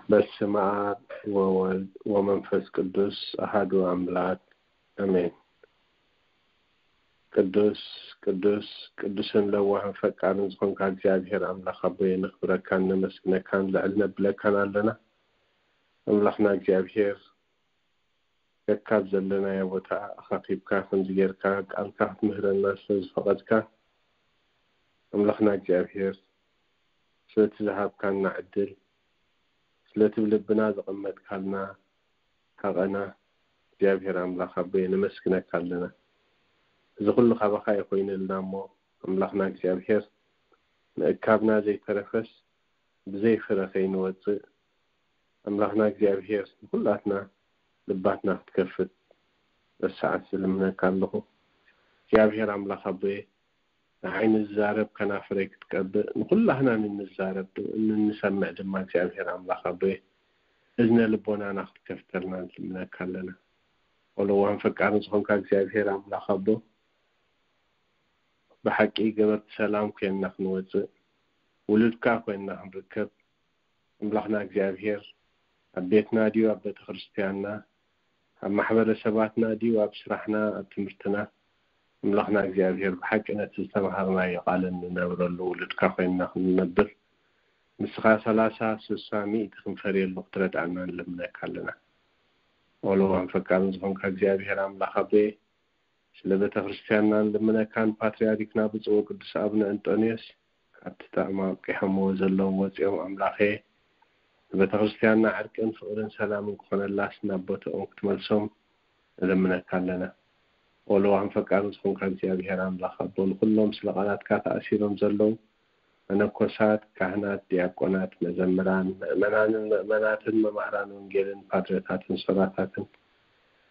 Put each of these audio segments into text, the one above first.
በስመ አብ ወወልድ ወመንፈስ ቅዱስ አሐዱ አምላክ አሜን። ቅዱስ ቅዱስ ቅዱስን ለዋህን ፈቃርን ዝኾንካ እግዚኣብሔር ኣምላኽ ኣቦየ፣ ነኽብረካን ነመስግነካን ልዕል ነብለካን ኣለና። ኣምላኽና እግዚኣብሔር፣ ከካብ ዘለናዮ ቦታ ኣኻኺብካ ከምዚ ጌርካ ቃልካ ክትምህረና ስለ ዝፈቐድካ፣ ኣምላኽና እግዚኣብሔር፣ ስለቲ ዝሃብካና ዕድል፣ ስለቲ ብልብና ዘቐመጥካልና ሃቐና እግዚኣብሔር ኣምላኽ ኣቦየ፣ ነመስግነካ ኣለና። እዚ ኩሉ ካባኻ እዩ ኮይኑልና እሞ፣ ኣምላኽና እግዚኣብሔር፣ ምእካብና ዘይተረፈስ ብዘይ ፍረ ከይንወጽእ፣ ኣምላኽና እግዚኣብሔር፣ ንኹላትና ልባትና ክትከፍት በሰዓት ዝልምነካ ኣለኹ። እግዚኣብሔር ኣምላኽ ኣቦየ፣ ንዓይ ንዛረብ ከናፍረይ ክትቀብእ፣ ንኹላህና ንንዛረብ ድ-፣ ንንሰምዕ ድማ እግዚኣብሔር ኣምላኽ ኣቦየ፣ እዝነ ልቦናና ክትከፍተልና ንልምነካ ኣለና። ወለዋን ፈቃርን ዝኾንካ እግዚኣብሔር ኣምላኽ ኣቦ፣ ብሓቂ ገበርቲ ሰላም ኮይንና ክንወጽእ፣ ውሉድካ ኮይንና ክንርከብ፣ ኣምላኽና እግዚኣብሔር፣ ኣብ ቤትና ድዩ ኣብ ቤተ ክርስቲያንና፣ ኣብ ማሕበረሰባትና ድዩ ኣብ ስራሕና፣ ኣብ ትምህርትና፣ ኣምላኽና እግዚኣብሔር፣ ብሓቂ ነቲ ዝተምሃርናዮ ቃልን ንነብረሉ ውሉድካ ኮይንና ክንነብር፣ ንስኻ ሰላሳ፣ ስሳ፣ ሚእቲ ክንፈርየሉ ክትረድኣና ንልምነካ ኣለና። ወለዋን ፈቃርን ዝኾንካ እግዚኣብሔር ኣምላኽ ኣቦየ፣ ስለ ቤተ ክርስቲያንና ንልምነካን ፓትርያርክና ብፁዕ ወቅዱስ ኣቡነ እንጦንዮስ፣ ካብቲ ጥዕማ ኣብቂሖምዎ ዘለዉ ወፂኦም፣ ኣምላኸ፣ ንቤተ ክርስቲያንና ዕርቅን ፍቕርን ሰላምን ክኾነላስ ናብ ቦታኦም ክትመልሶም ንልምነካ ኣለና። ወለዋን ፈቃርን ዝኾንካ እግዚኣብሔር ኣምላኽ ኣቦ፣ ንኹሎም ስለ ቃላትካ ተኣሲሮም ዘለዉ መነኮሳት፣ ካህናት፣ ዲያቆናት፣ መዘምራን፣ ምእመናንን ምእመናትን፣ መማህራን ወንጌልን፣ ፓድረታትን ሶራታትን፣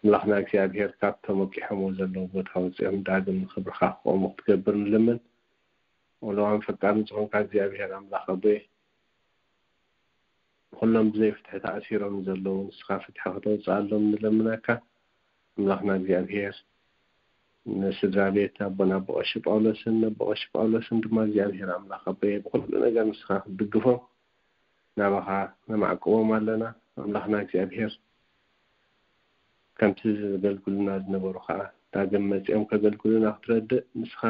ኣምላኽና እግዚኣብሔር፣ ካብቶም ወቂሖምዎ ዘለዉ ቦታ ወፂኦም ዳግም ንኽብርኻ ክቆሙ ክትገብር ንልምን። ወለዋን ፈቃርን ዝኾንካ እግዚኣብሔር ኣምላኽ ኣቦየ፣ ንኹሎም ብዘይ ፍትሒ ተኣሲሮም ዘለዉ ንስኻ ፍትሒ ከተውፅኣሎም ንለምነካ። ኣምላኽና እግዚኣብሔር፣ ንስድራ ቤት ኣቦና ኣቦ ቀሺ ጳውሎስን ነቦ ቀሺ ጳውሎስን ድማ እግዚኣብሔር ኣምላኽ ኣቦየ፣ ብኹሉ ነገር ንስኻ ክትድግፎም ናባኻ ነማዕቅቦም ኣለና። ኣምላኽና እግዚኣብሔር፣ ከምቲ ዘገልግሉና ዝነበሩ ኸዓ ዳግም መጺኦም ከገልግሉና ክትረድእ ንስኻ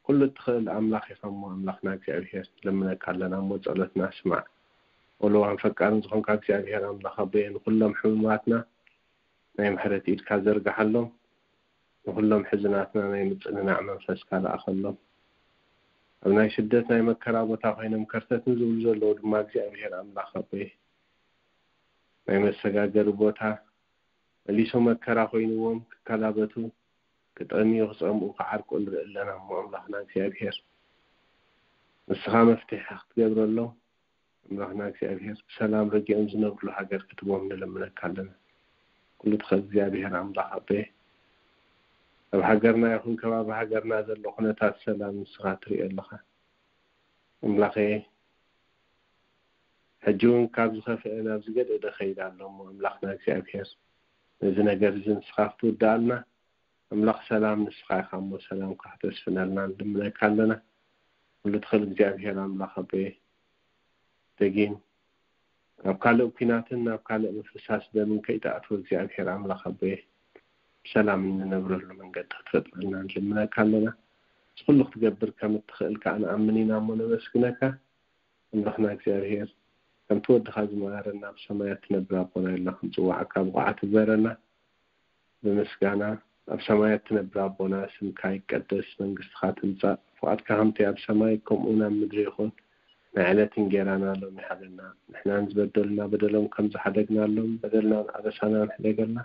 ኩሉ እትኽእል ኣምላኽ ኢኻ እሞ፣ ኣምላኽና እግዚኣብሔር፣ ንለምነካ ኣለና እሞ፣ ጸሎትና ስማዕ። ወለዋን ፈቃርን ዝኾንካ እግዚኣብሔር ኣምላኽ ኣቦየ፣ ንኹሎም ሕሙማትና ናይ ምሕረት ኢድካ ዘርግሓሎም፣ ንኹሎም ሕዙናትና ናይ ምጽንናዕ መንፈስካ ለኣኸሎም። ኣብ ናይ ስደት ናይ መከራ ቦታ ኮይኖም ከርተት ንዝብሉ ዘለዉ ድማ እግዚኣብሔር ኣምላኽ ኣቦየ፣ ናይ መሰጋገሪ ቦታ መሊሱ መከራ ኮይንዎም ክከላበቱ፣ ክጠምዩ፣ ክጸምኡ፣ ክዓርቁ ንርኢ ኣለና እሞ፣ ኣምላኽና እግዚኣብሔር፣ ንስኻ መፍትሒ ክትገብረሎም፣ ኣምላኽና እግዚኣብሔር፣ ብሰላም ረጊኦም ዝነብርሉ ሃገር ክትቦም ንለምነካ ኣለና። ኩሉ ትኽእል እግዚኣብሔር ኣምላኽ ኣቦየ፣ ኣብ ሃገርና ይኹን ከባቢ ሃገርና ዘሎ ኩነታት ሰላም ንስኻ ትርኢ ኣለኻ። ኣምላኸየ፣ ሕጂ እውን ካብ ዝኸፍአ ናብ ዝገደደ ኸይድ ኣሎ እሞ፣ ኣምላኽና እግዚኣብሔር፣ ነዚ ነገር እዚ ንስኻ ክትውድኣልና፣ ኣምላኽ ሰላም ንስኻ ኢኻ እሞ፣ ሰላምካ ክተስፍነልና ንልምነካ ኣለና። ኩሉ ትኽእል እግዚኣብሔር ኣምላኽ ኣቦየ፣ ደጊም ናብ ካልእ ኲናትን ናብ ካልእ ምፍሳስ ደምን ከይትኣትዎ እግዚኣብሔር ኣምላኽ ኣቦየ፣ ብሰላም እንነብረሉ መንገዲ ክትፈጥረልና ንልምነካ ኣለና። እዚ ኩሉ ክትገብር ከም እትኽእል ከኣ ንኣምን ኢና እሞ ነመስግነካ። ኣምላኽና እግዚኣብሔር፣ ከምቲ ወድኻ ዝመሃረና፣ ኣብ ሰማያት ትነብር ኣቦና ኢልና ክንጽዋዓካ ብቑዓት ግበረና። ብምስጋና፣ ኣብ ሰማያት ትነብር ኣቦና፣ ስምካ ይቀደስ፣ መንግስትኻ ትምጻእ፣ ፍቓድካ ከምቲ ኣብ ሰማይ ከምኡ እውን ኣብ ምድሪ ይኹን። ናይ ዕለት እንጌራና ሎሚ ሃበና፣ ንሕና ንዝበደሉና በደሎም ከም ዝሓደግናሎም፣ በደልናን ኣበሳናን ሕደገልና፣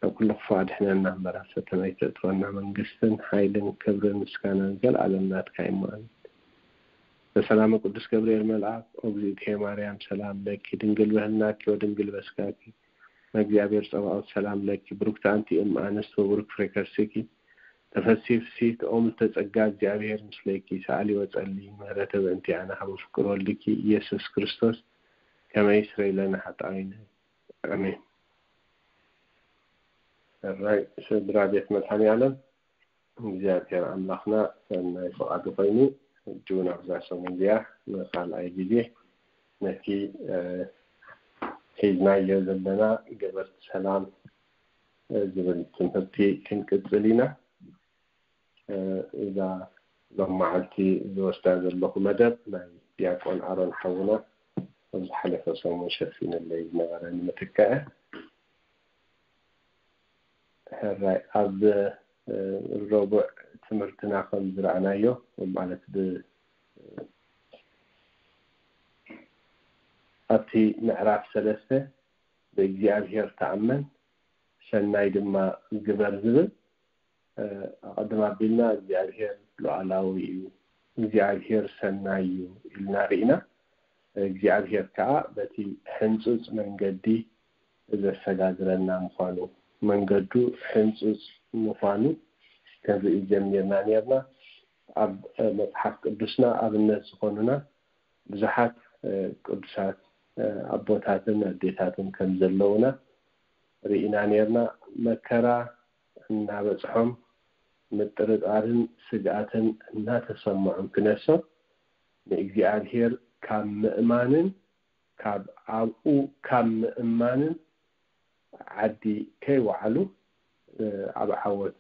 ካብ ኩሉ ክፉእ ኣድሕነና እምበር፣ ኣብ ፈተና ኣይተእትወና። መንግስትን ሓይልን ክብርን ምስጋናን ዘለኣለም ናትካ እዩ እሞ፣ ኣሜን። በሰላመ ቅዱስ ገብርኤል መልኣክ፣ ኦ እግዝእትየ ማርያም፣ ሰላም ለኪ፣ ድንግል በህልናኪ ወድንግል በስጋኪ፣ እመ እግዚኣብሔር ጸባኦት፣ ሰላም ለኪ፣ ብሩክቲ ኣንቲ እም ኣንስት ወብሩክ ፍሬ ከርሥኪ፣ ተፈሲ ፍስሕቲ ኦም ተጸጋ እግዚኣብሔር ምስሌኪ፣ ሰኣሊ ወጸሊ ምህረተ በእንቲኣና ካብ ፍቅር ወልድኪ ኢየሱስ ክርስቶስ ከመይ ስረይለና ሓጣዊነ። ኣሜን። ራይ ስድራ ቤት መድኃኔ ዓለም እግዚኣብሔር ኣምላኽና ሰናይ ፍቓዱ ኮይኑ ሕጂ እውን ኣብዛ ሰሙን እዚኣ ንኻልኣይ ግዜ ነቲ ሒዝናዮ ዘለና ገበርቲ ሰላም ዝብል ትምህርቲ ክንቅጽል ኢና። እዛ ሎም መዓልቲ ዝወስዳ ዘለኹ መደብ ናይ ዲያቆን ኣሮን ሓውና ኣብ ዝሓለፈ ሰሙን ሸፊነለይ ዝነበረ ንምትካእ። ሕራይ ኣብ ረቡዕ ትምህርትና ከም ዝረኣናዮ ማለት ብ ኣብቲ ምዕራፍ ሰለስተ ብእግዚኣብሔር ተኣመን ሰናይ ድማ ግበር ዝብል ኣቐድም ኣቢልና እግዚኣብሔር ሉዓላዊ እዩ፣ እግዚኣብሔር ሰናይ እዩ ኢልና ርኢና። እግዚኣብሔር ከዓ በቲ ሕንፁፅ መንገዲ ዘሰጋግረና ምዃኑ፣ መንገዱ ሕንፁፅ ምዃኑ ክንርኢ ጀሚርና ነርና። ኣብ መፅሓፍ ቅዱስና ኣብነት ዝኾኑና ብዙሓት ቅዱሳት ኣቦታትን ኣዴታትን ከም ዘለውና ርኢና ነርና። መከራ እናበፅሖም ምጥርጣርን ስግኣትን እናተሰምዖም ክነሶም ንእግዚኣብሔር ካብ ምእማንን ካብ ኣብኡ ካብ ምእማንን ዓዲ ከይወዓሉ ኣብ ዓወት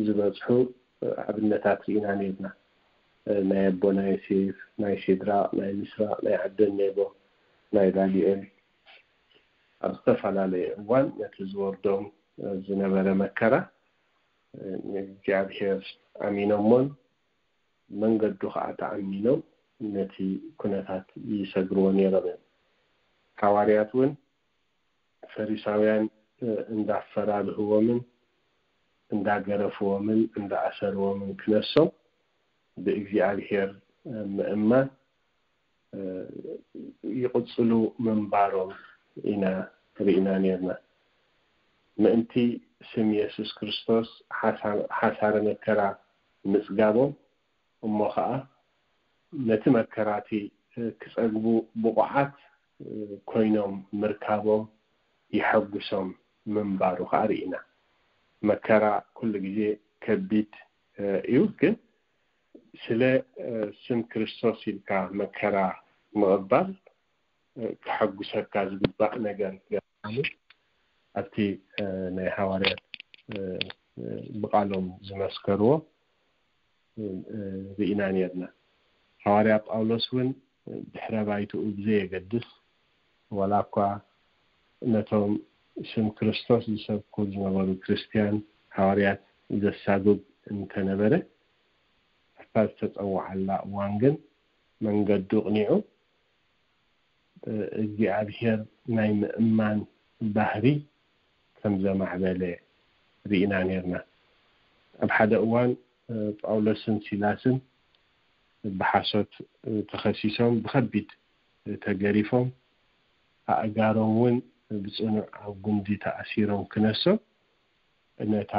ዝበፅሑ ኣብነታት ርኢና ነርና። ናይ ኣቦና ዮሴፍ፣ ናይ ሴድራቅ፣ ናይ ሚስራቅ፣ ናይ ዓብደኔጎ፣ ናይ ዳንኤል ኣብ ዝተፈላለየ እዋን ነቲ ዝወርዶም ዝነበረ መከራ ንእግዚኣብሔር ኣሚኖሞን መንገዱ ከዓ ተኣሚኖም ነቲ ኩነታት ይሰግርዎ ነይሮም እዮም። ሓዋርያት እውን ፈሪሳውያን እንዳፈራርህዎምን እንዳገረፍዎምን እንዳኣሰርዎምን ክነሶም ብእግዚኣብሔር ምእማን ይቕፅሉ ምንባሮም ኢና ርኢና ነርና። ምእንቲ ስም የሱስ ክርስቶስ ሓሳረ መከራ ምፅጋቦም እሞ ከዓ ነቲ መከራቲ ክፀግቡ ብቑዓት ኮይኖም ምርካቦም ይሐጉሶም ምንባሩ ከዓ ርኢና። መከራ ኩሉ ግዜ ከቢድ እዩ፣ ግን ስለ ስም ክርስቶስ ኢልካ መከራ ምቕባል ክሐጉሰካ ዝግባእ ነገር ገርካኒ ኣብቲ ናይ ሃዋርያት ብቓሎም ዝመስከርዎ ርኢና ነርና። ሃዋርያ ጳውሎስ እውን ድሕረ ባይትኡ ብዘየገድስ ዋላ እኳ ነቶም ስም ክርስቶስ ዝሰብኩ ዝነበሩ ክርስትያን ሃዋርያት ዘሳጉግ እንተነበረ ኣብታ ዝተፀውዓላ እዋን ግን መንገዱ ቅኒዑ እግዚኣብሔር ናይ ምእማን ባህሪ ከም ዘማዕበለ ርኢና ነርና። ኣብ ሓደ እዋን ጳውሎስን ሲላስን ብሓሶት ተኸሲሶም ብኸቢድ ተገሪፎም ኣእጋሮም እውን ብፅኑዕ ኣብ ጉንዲ ተኣሲሮም ክነሶም ነታ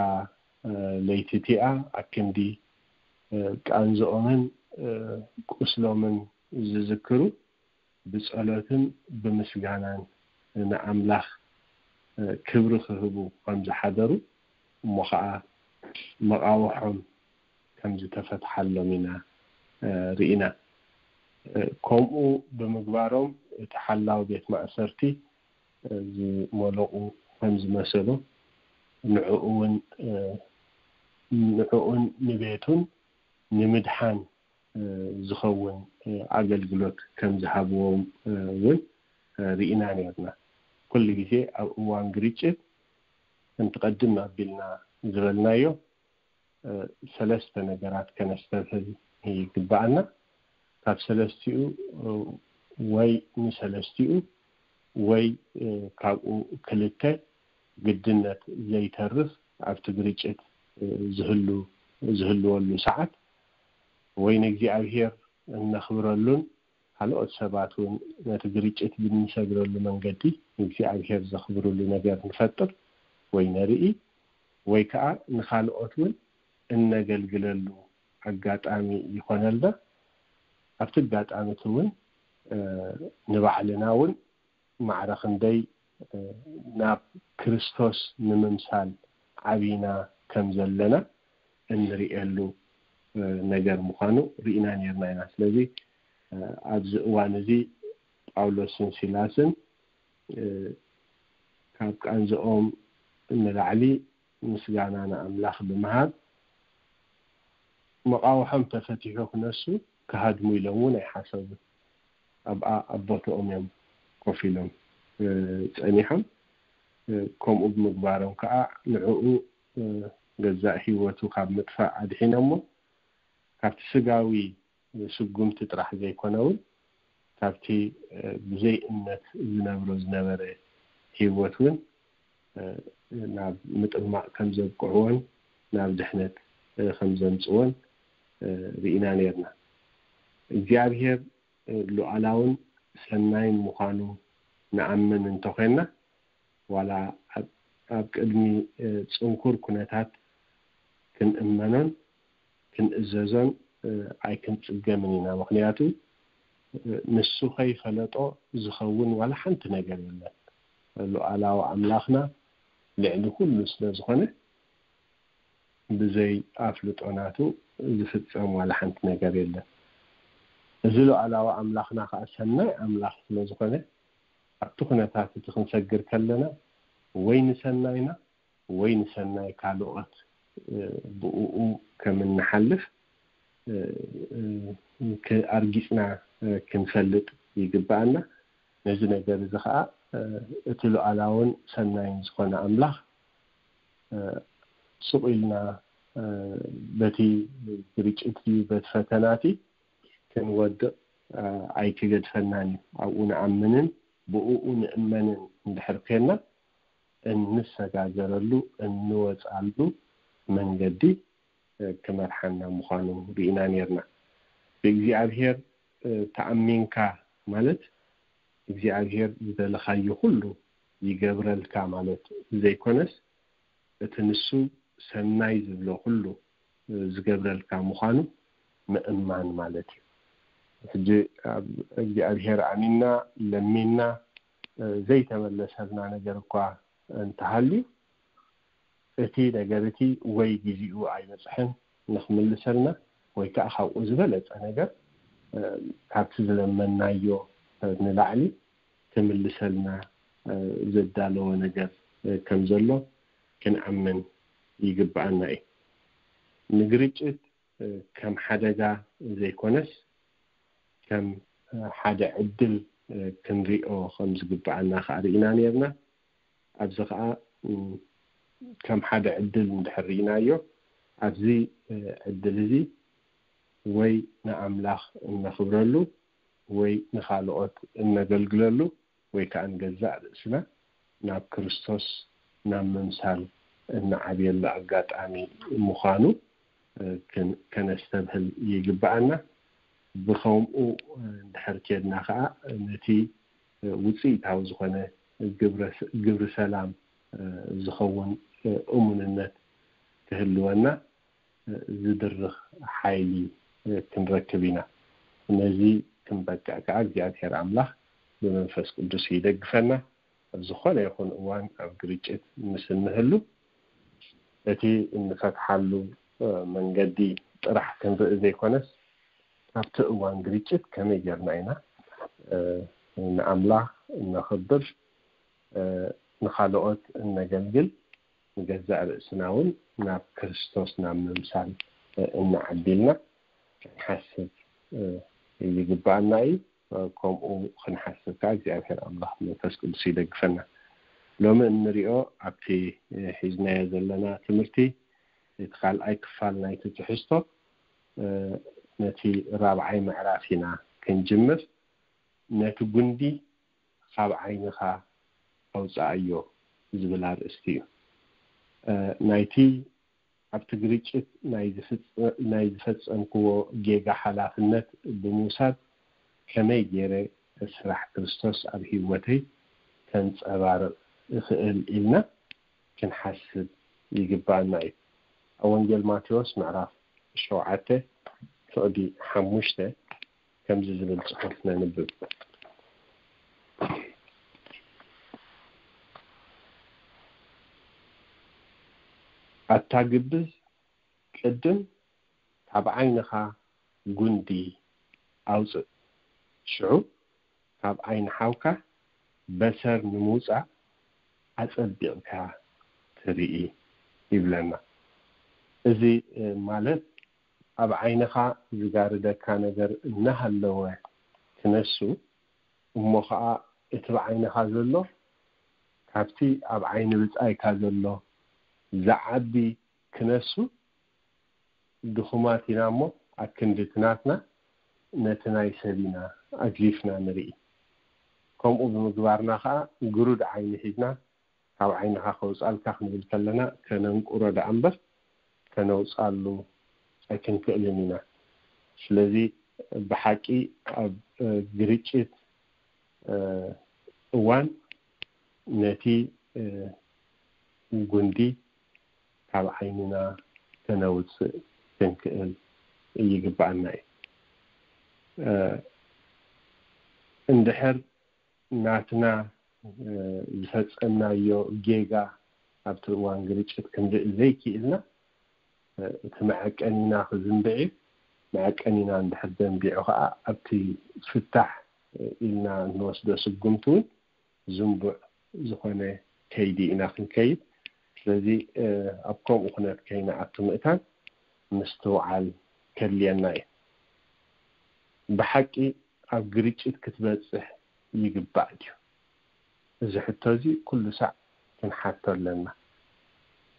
ለይቲ እቲኣ ኣብ ክንዲ ቃንዝኦምን ቁስሎምን ዝዝክሩ ብጸሎትን ብምስጋናን ንኣምላኽ ክብሪ ክህቡ ከም ዝሓደሩ እሞ ኸዓ መቓውሖም ከም ዝተፈትሓሎም ኢና ርኢና። ከምኡ ብምግባሮም እቲ ሓላው ቤት ማእሰርቲ ዝመለቑ ከም ዝመሰሎ ንዕኡ እውን ንዕኡን ንቤቱን ንምድሓን ዝኸውን ኣገልግሎት ከም ዝሃብዎም እውን ርኢና ነርና። ኩሉ ግዜ ኣብ እዋን ግርጭት ከምቲ ቀድም ኣቢልና ዝበልናዮ ሰለስተ ነገራት ከነስተብህል ይግባኣና። ካብ ሰለስቲኡ ወይ ንሰለስቲኡ ወይ ካብኡ ክልተ ግድነት ዘይተርፍ ኣብቲ ግርጭት ዝህሉ ዝህልወሉ ሰዓት ወይ ንእግዚኣብሔር እነኽብረሉን ካልኦት ሰባት እውን ነቲ ግርጭት ብንሰግረሉ መንገዲ ንእግዚኣብሔር ዘኽብርሉ ነገር ንፈጥር ወይ ነርኢ ወይ ከዓ ንኻልኦት እውን እነገልግለሉ ኣጋጣሚ ይኾነልና። ኣብቲ ኣጋጣሚ እቲ እውን ንባዕልና እውን ማዕረ ክንደይ ናብ ክርስቶስ ንምምሳል ዓብና ከም ዘለና እንርእየሉ ነገር ምዃኑ ርኢና ነርና ኢና። ስለዚ ኣብዚ እዋን እዚ ጳውሎስን ሲላስን ካብ ቃንዝኦም ንላዕሊ ምስጋና ንኣምላኽ ብምሃብ መቓውሖም ተፈቲሑ ክነሱ ክሃድሙ ኢሎም እውን ኣይሓሰቡን። ኣብኣ ኣብ ቦትኦም እዮም ኮፍ ኢሎም ጸኒሖም። ከምኡ ብምግባሮም ከዓ ንዕኡ ገዛእ ህይወቱ ካብ ምጥፋእ ኣድሒኖሞ። ካብቲ ስጋዊ ስጉምቲ ጥራሕ ዘይኮነ እውን ካብቲ ብዘይ እምነት ዝነብሮ ዝነበረ ህይወት እውን ናብ ምጥማቕ ከም ዘብቅዕዎን ናብ ድሕነት ከም ዘምፅዎን ርኢና ነርና። እግዚኣብሔር ሉዓላውን ሰናይን ምዃኑ ንኣምን እንተኾይንና፣ ዋላ ኣብ ቅድሚ ፅንኩር ኩነታት ክንእመኖን ክንእዘዞን ኣይክንፅገምን ኢና። ምኽንያቱ ንሱ ከይፈለጦ ዝኸውን ዋላ ሓንቲ ነገር የለን። ሉዓላዊ ኣምላኽና ልዕሊ ኩሉ ስለ ዝኾነ ብዘይ ኣፍልጦ ናቱ ዝፍጸም ዋላ ሓንቲ ነገር የለን። እዚ ሉዓላዊ ኣምላኽና ከዓ ሰናይ ኣምላኽ ስለ ዝኾነ ኣብቲ ኩነታት እቲ ክንሰግር ከለና ወይ ንሰናይና ወይ ንሰናይ ካልኦት ብእኡ ከም እንሓልፍ ኣርጊፅና ክንፈልጥ ይግብኣና። ነዚ ነገር እዚ ከዓ እቲ ሉዓላውን ሰናይን ዝኾነ ኣምላኽ ስቕ ኢልና በቲ ግርጭት ድዩ በቲ ፈተናቲ ክንወድቕ ኣይክገድፈናን እዩ። ኣብኡ ንኣምንን ብእኡ ንእመንን እንድሕር ኮይና እንሰጋገረሉ እንወፃሉ መንገዲ ክመርሓና ምዃኑ ርኢና ነርና። ብእግዚኣብሔር ተኣሚንካ ማለት እግዚኣብሔር ዝደለኻዮ ኩሉ ይገብረልካ ማለት ዘይኮነስ እቲ ንሱ ሰናይ ዝብሎ ኩሉ ዝገብረልካ ምዃኑ ምእማን ማለት እዩ። ሕጂ ኣብ እግዚኣብሔር ኣሚንና ለሚንና ዘይተመለሰልና ነገር እኳ እንተሃልዩ እቲ ነገር እቲ ወይ ግዜኡ ኣይበፅሐን ንክምልሰልና ወይ ከዓ ካብኡ ዝበለፀ ነገር ካብቲ ዝለመናዮ ንላዕሊ ክምልሰልና ዘዳለወ ነገር ከም ዘሎ ክንኣምን ይግብኣና እዩ። ንግርጭት ከም ሓደጋ ዘይኮነስ ከም ሓደ ዕድል ክንሪኦ ከም ዝግብኣና ከዓ ርኢና ነርና። ኣብዚ ከዓ ከም ሓደ ዕድል እንድሕር ርኢናዮ ኣብዚ ዕድል እዚ ወይ ንኣምላኽ እነኽብረሉ ወይ ንኻልኦት እነገልግለሉ ወይ ከዓ ንገዛእ ርእስና ናብ ክርስቶስ ናብ ምምሳል እንዓብየሉ ኣጋጣሚ ምዃኑ ከነስተብህል ይግብኣና። ብኸምኡ እንድሕር ኬድና ከዓ ነቲ ውፅኢታዊ ዝኾነ ግብሪ ሰላም ዝኸውን እሙንነት ክህልወና ዝድርኽ ሓይሊ ክንረክብ ኢና። ነዚ ክንበቅዕ ከዓ እግዚኣብሔር ኣምላኽ ብመንፈስ ቅዱስ ይደግፈና። ኣብ ዝኾነ ይኹን እዋን ኣብ ግርጭት ምስ እንህሉ እቲ እንፈትሓሉ መንገዲ ጥራሕ ክንርኢ ዘይኮነስ ካብቲ እዋን ግርጭት ከመይ ጌርና ኢና ንኣምላኽ እነኽብር፣ ንኻልኦት እነገልግል፣ ንገዛእ ርእስና እውን ናብ ክርስቶስ ናብ ምምሳል እንዓቢልና ክንሓስብ ይግብኣና እዩ። ከምኡ ክንሓስብ ከዓ እግዚኣብሔር ኣምላኽ መንፈስ ቅዱስ ይደግፈና። ሎሚ እንሪኦ ኣብቲ ሒዝናዮ ዘለና ትምህርቲ እቲ ካልኣይ ክፋል ናይቲ ትሕዝቶ ነቲ ራብዓይ ምዕራፍ ኢና ክንጅምር። ነቲ ጉንዲ ካብ ዓይንኻ ኣውፅኣዮ ዝብል ኣርእስቲ እዩ። ናይቲ ኣብቲ ግርጭት ናይ ዝፈፀምክዎ ጌጋ ሓላፍነት ብምውሳድ ከመይ ገይረ ስራሕ ክርስቶስ ኣብ ህይወተይ ከንፀባርቕ እኽእል ኢልና ክንሓስብ ይግባኣና እዩ። ኣብ ወንጌል ማቴዎስ ምዕራፍ ሸውዓተ ፍቕዲ ሓሙሽተ ከምዚ ዝብል ጽሑፍ ነንብብ። ኣታ ግብዝ፣ ቅድም ካብ ዓይንኻ ጉንዲ ኣውጽእ፣ ሽዑ ካብ ዓይኒ ሓውካ በሰር ንምውጻእ ኣጸቢቕካ ትርኢ ይብለና። እዚ ማለት ኣብ ዓይንኻ ዝጋርደካ ነገር እናሃለወ ክነሱ፣ እሞ ኸዓ እቲ ብዓይንኻ ዘሎ ካብቲ ኣብ ዓይኒ ብጻይካ ዘሎ ዝዓቢ ክነሱ ድኹማት ኢና እሞ፣ ኣብ ክንዲ እቲ ናትና ነቲ ናይ ሰብ ኢና ኣግሊፍና ንርኢ። ከምኡ ብምግባርና ኸዓ ግሩድ ዓይኒ ሒዝና ካብ ዓይንኻ ከውጻልካ ክንብል ከለና ከነንቁሮ ደኣ እምበር ከነውጻሉ ኣይክንክእልን ኢና። ስለዚ ብሓቂ ኣብ ግርጭት እዋን ነቲ ጉንዲ ካብ ዓይንና ከነውጽእ ክንክእል ይግባኣና እዩ። እንድሕር ናትና ዝፈጸምናዮ ጌጋ ኣብቲ እዋን ግርጭት ክንርኢ ዘይክእልና፣ እቲ መዐቀኒና ክዝንብዕ እዩ። መዐቀኒና እንድሕር ዘንቢዑ ከዓ ኣብቲ ፍታሕ ኢልና እንወስዶ ስጉምቲ እውን ዝንቡዕ ዝኾነ ከይዲ ኢና ክንከይድ። ስለዚ ኣብ ከምኡ ኩነት ከይንኣቱ ምእታን ምስትውዓል ከድልየና እዩ። ብሓቂ ኣብ ግርጭት ክትበጽሕ ይግባእ ድዩ? እዚ ሕቶ እዚ ኩሉ ሳዕ ክንሓቶ ኣለና።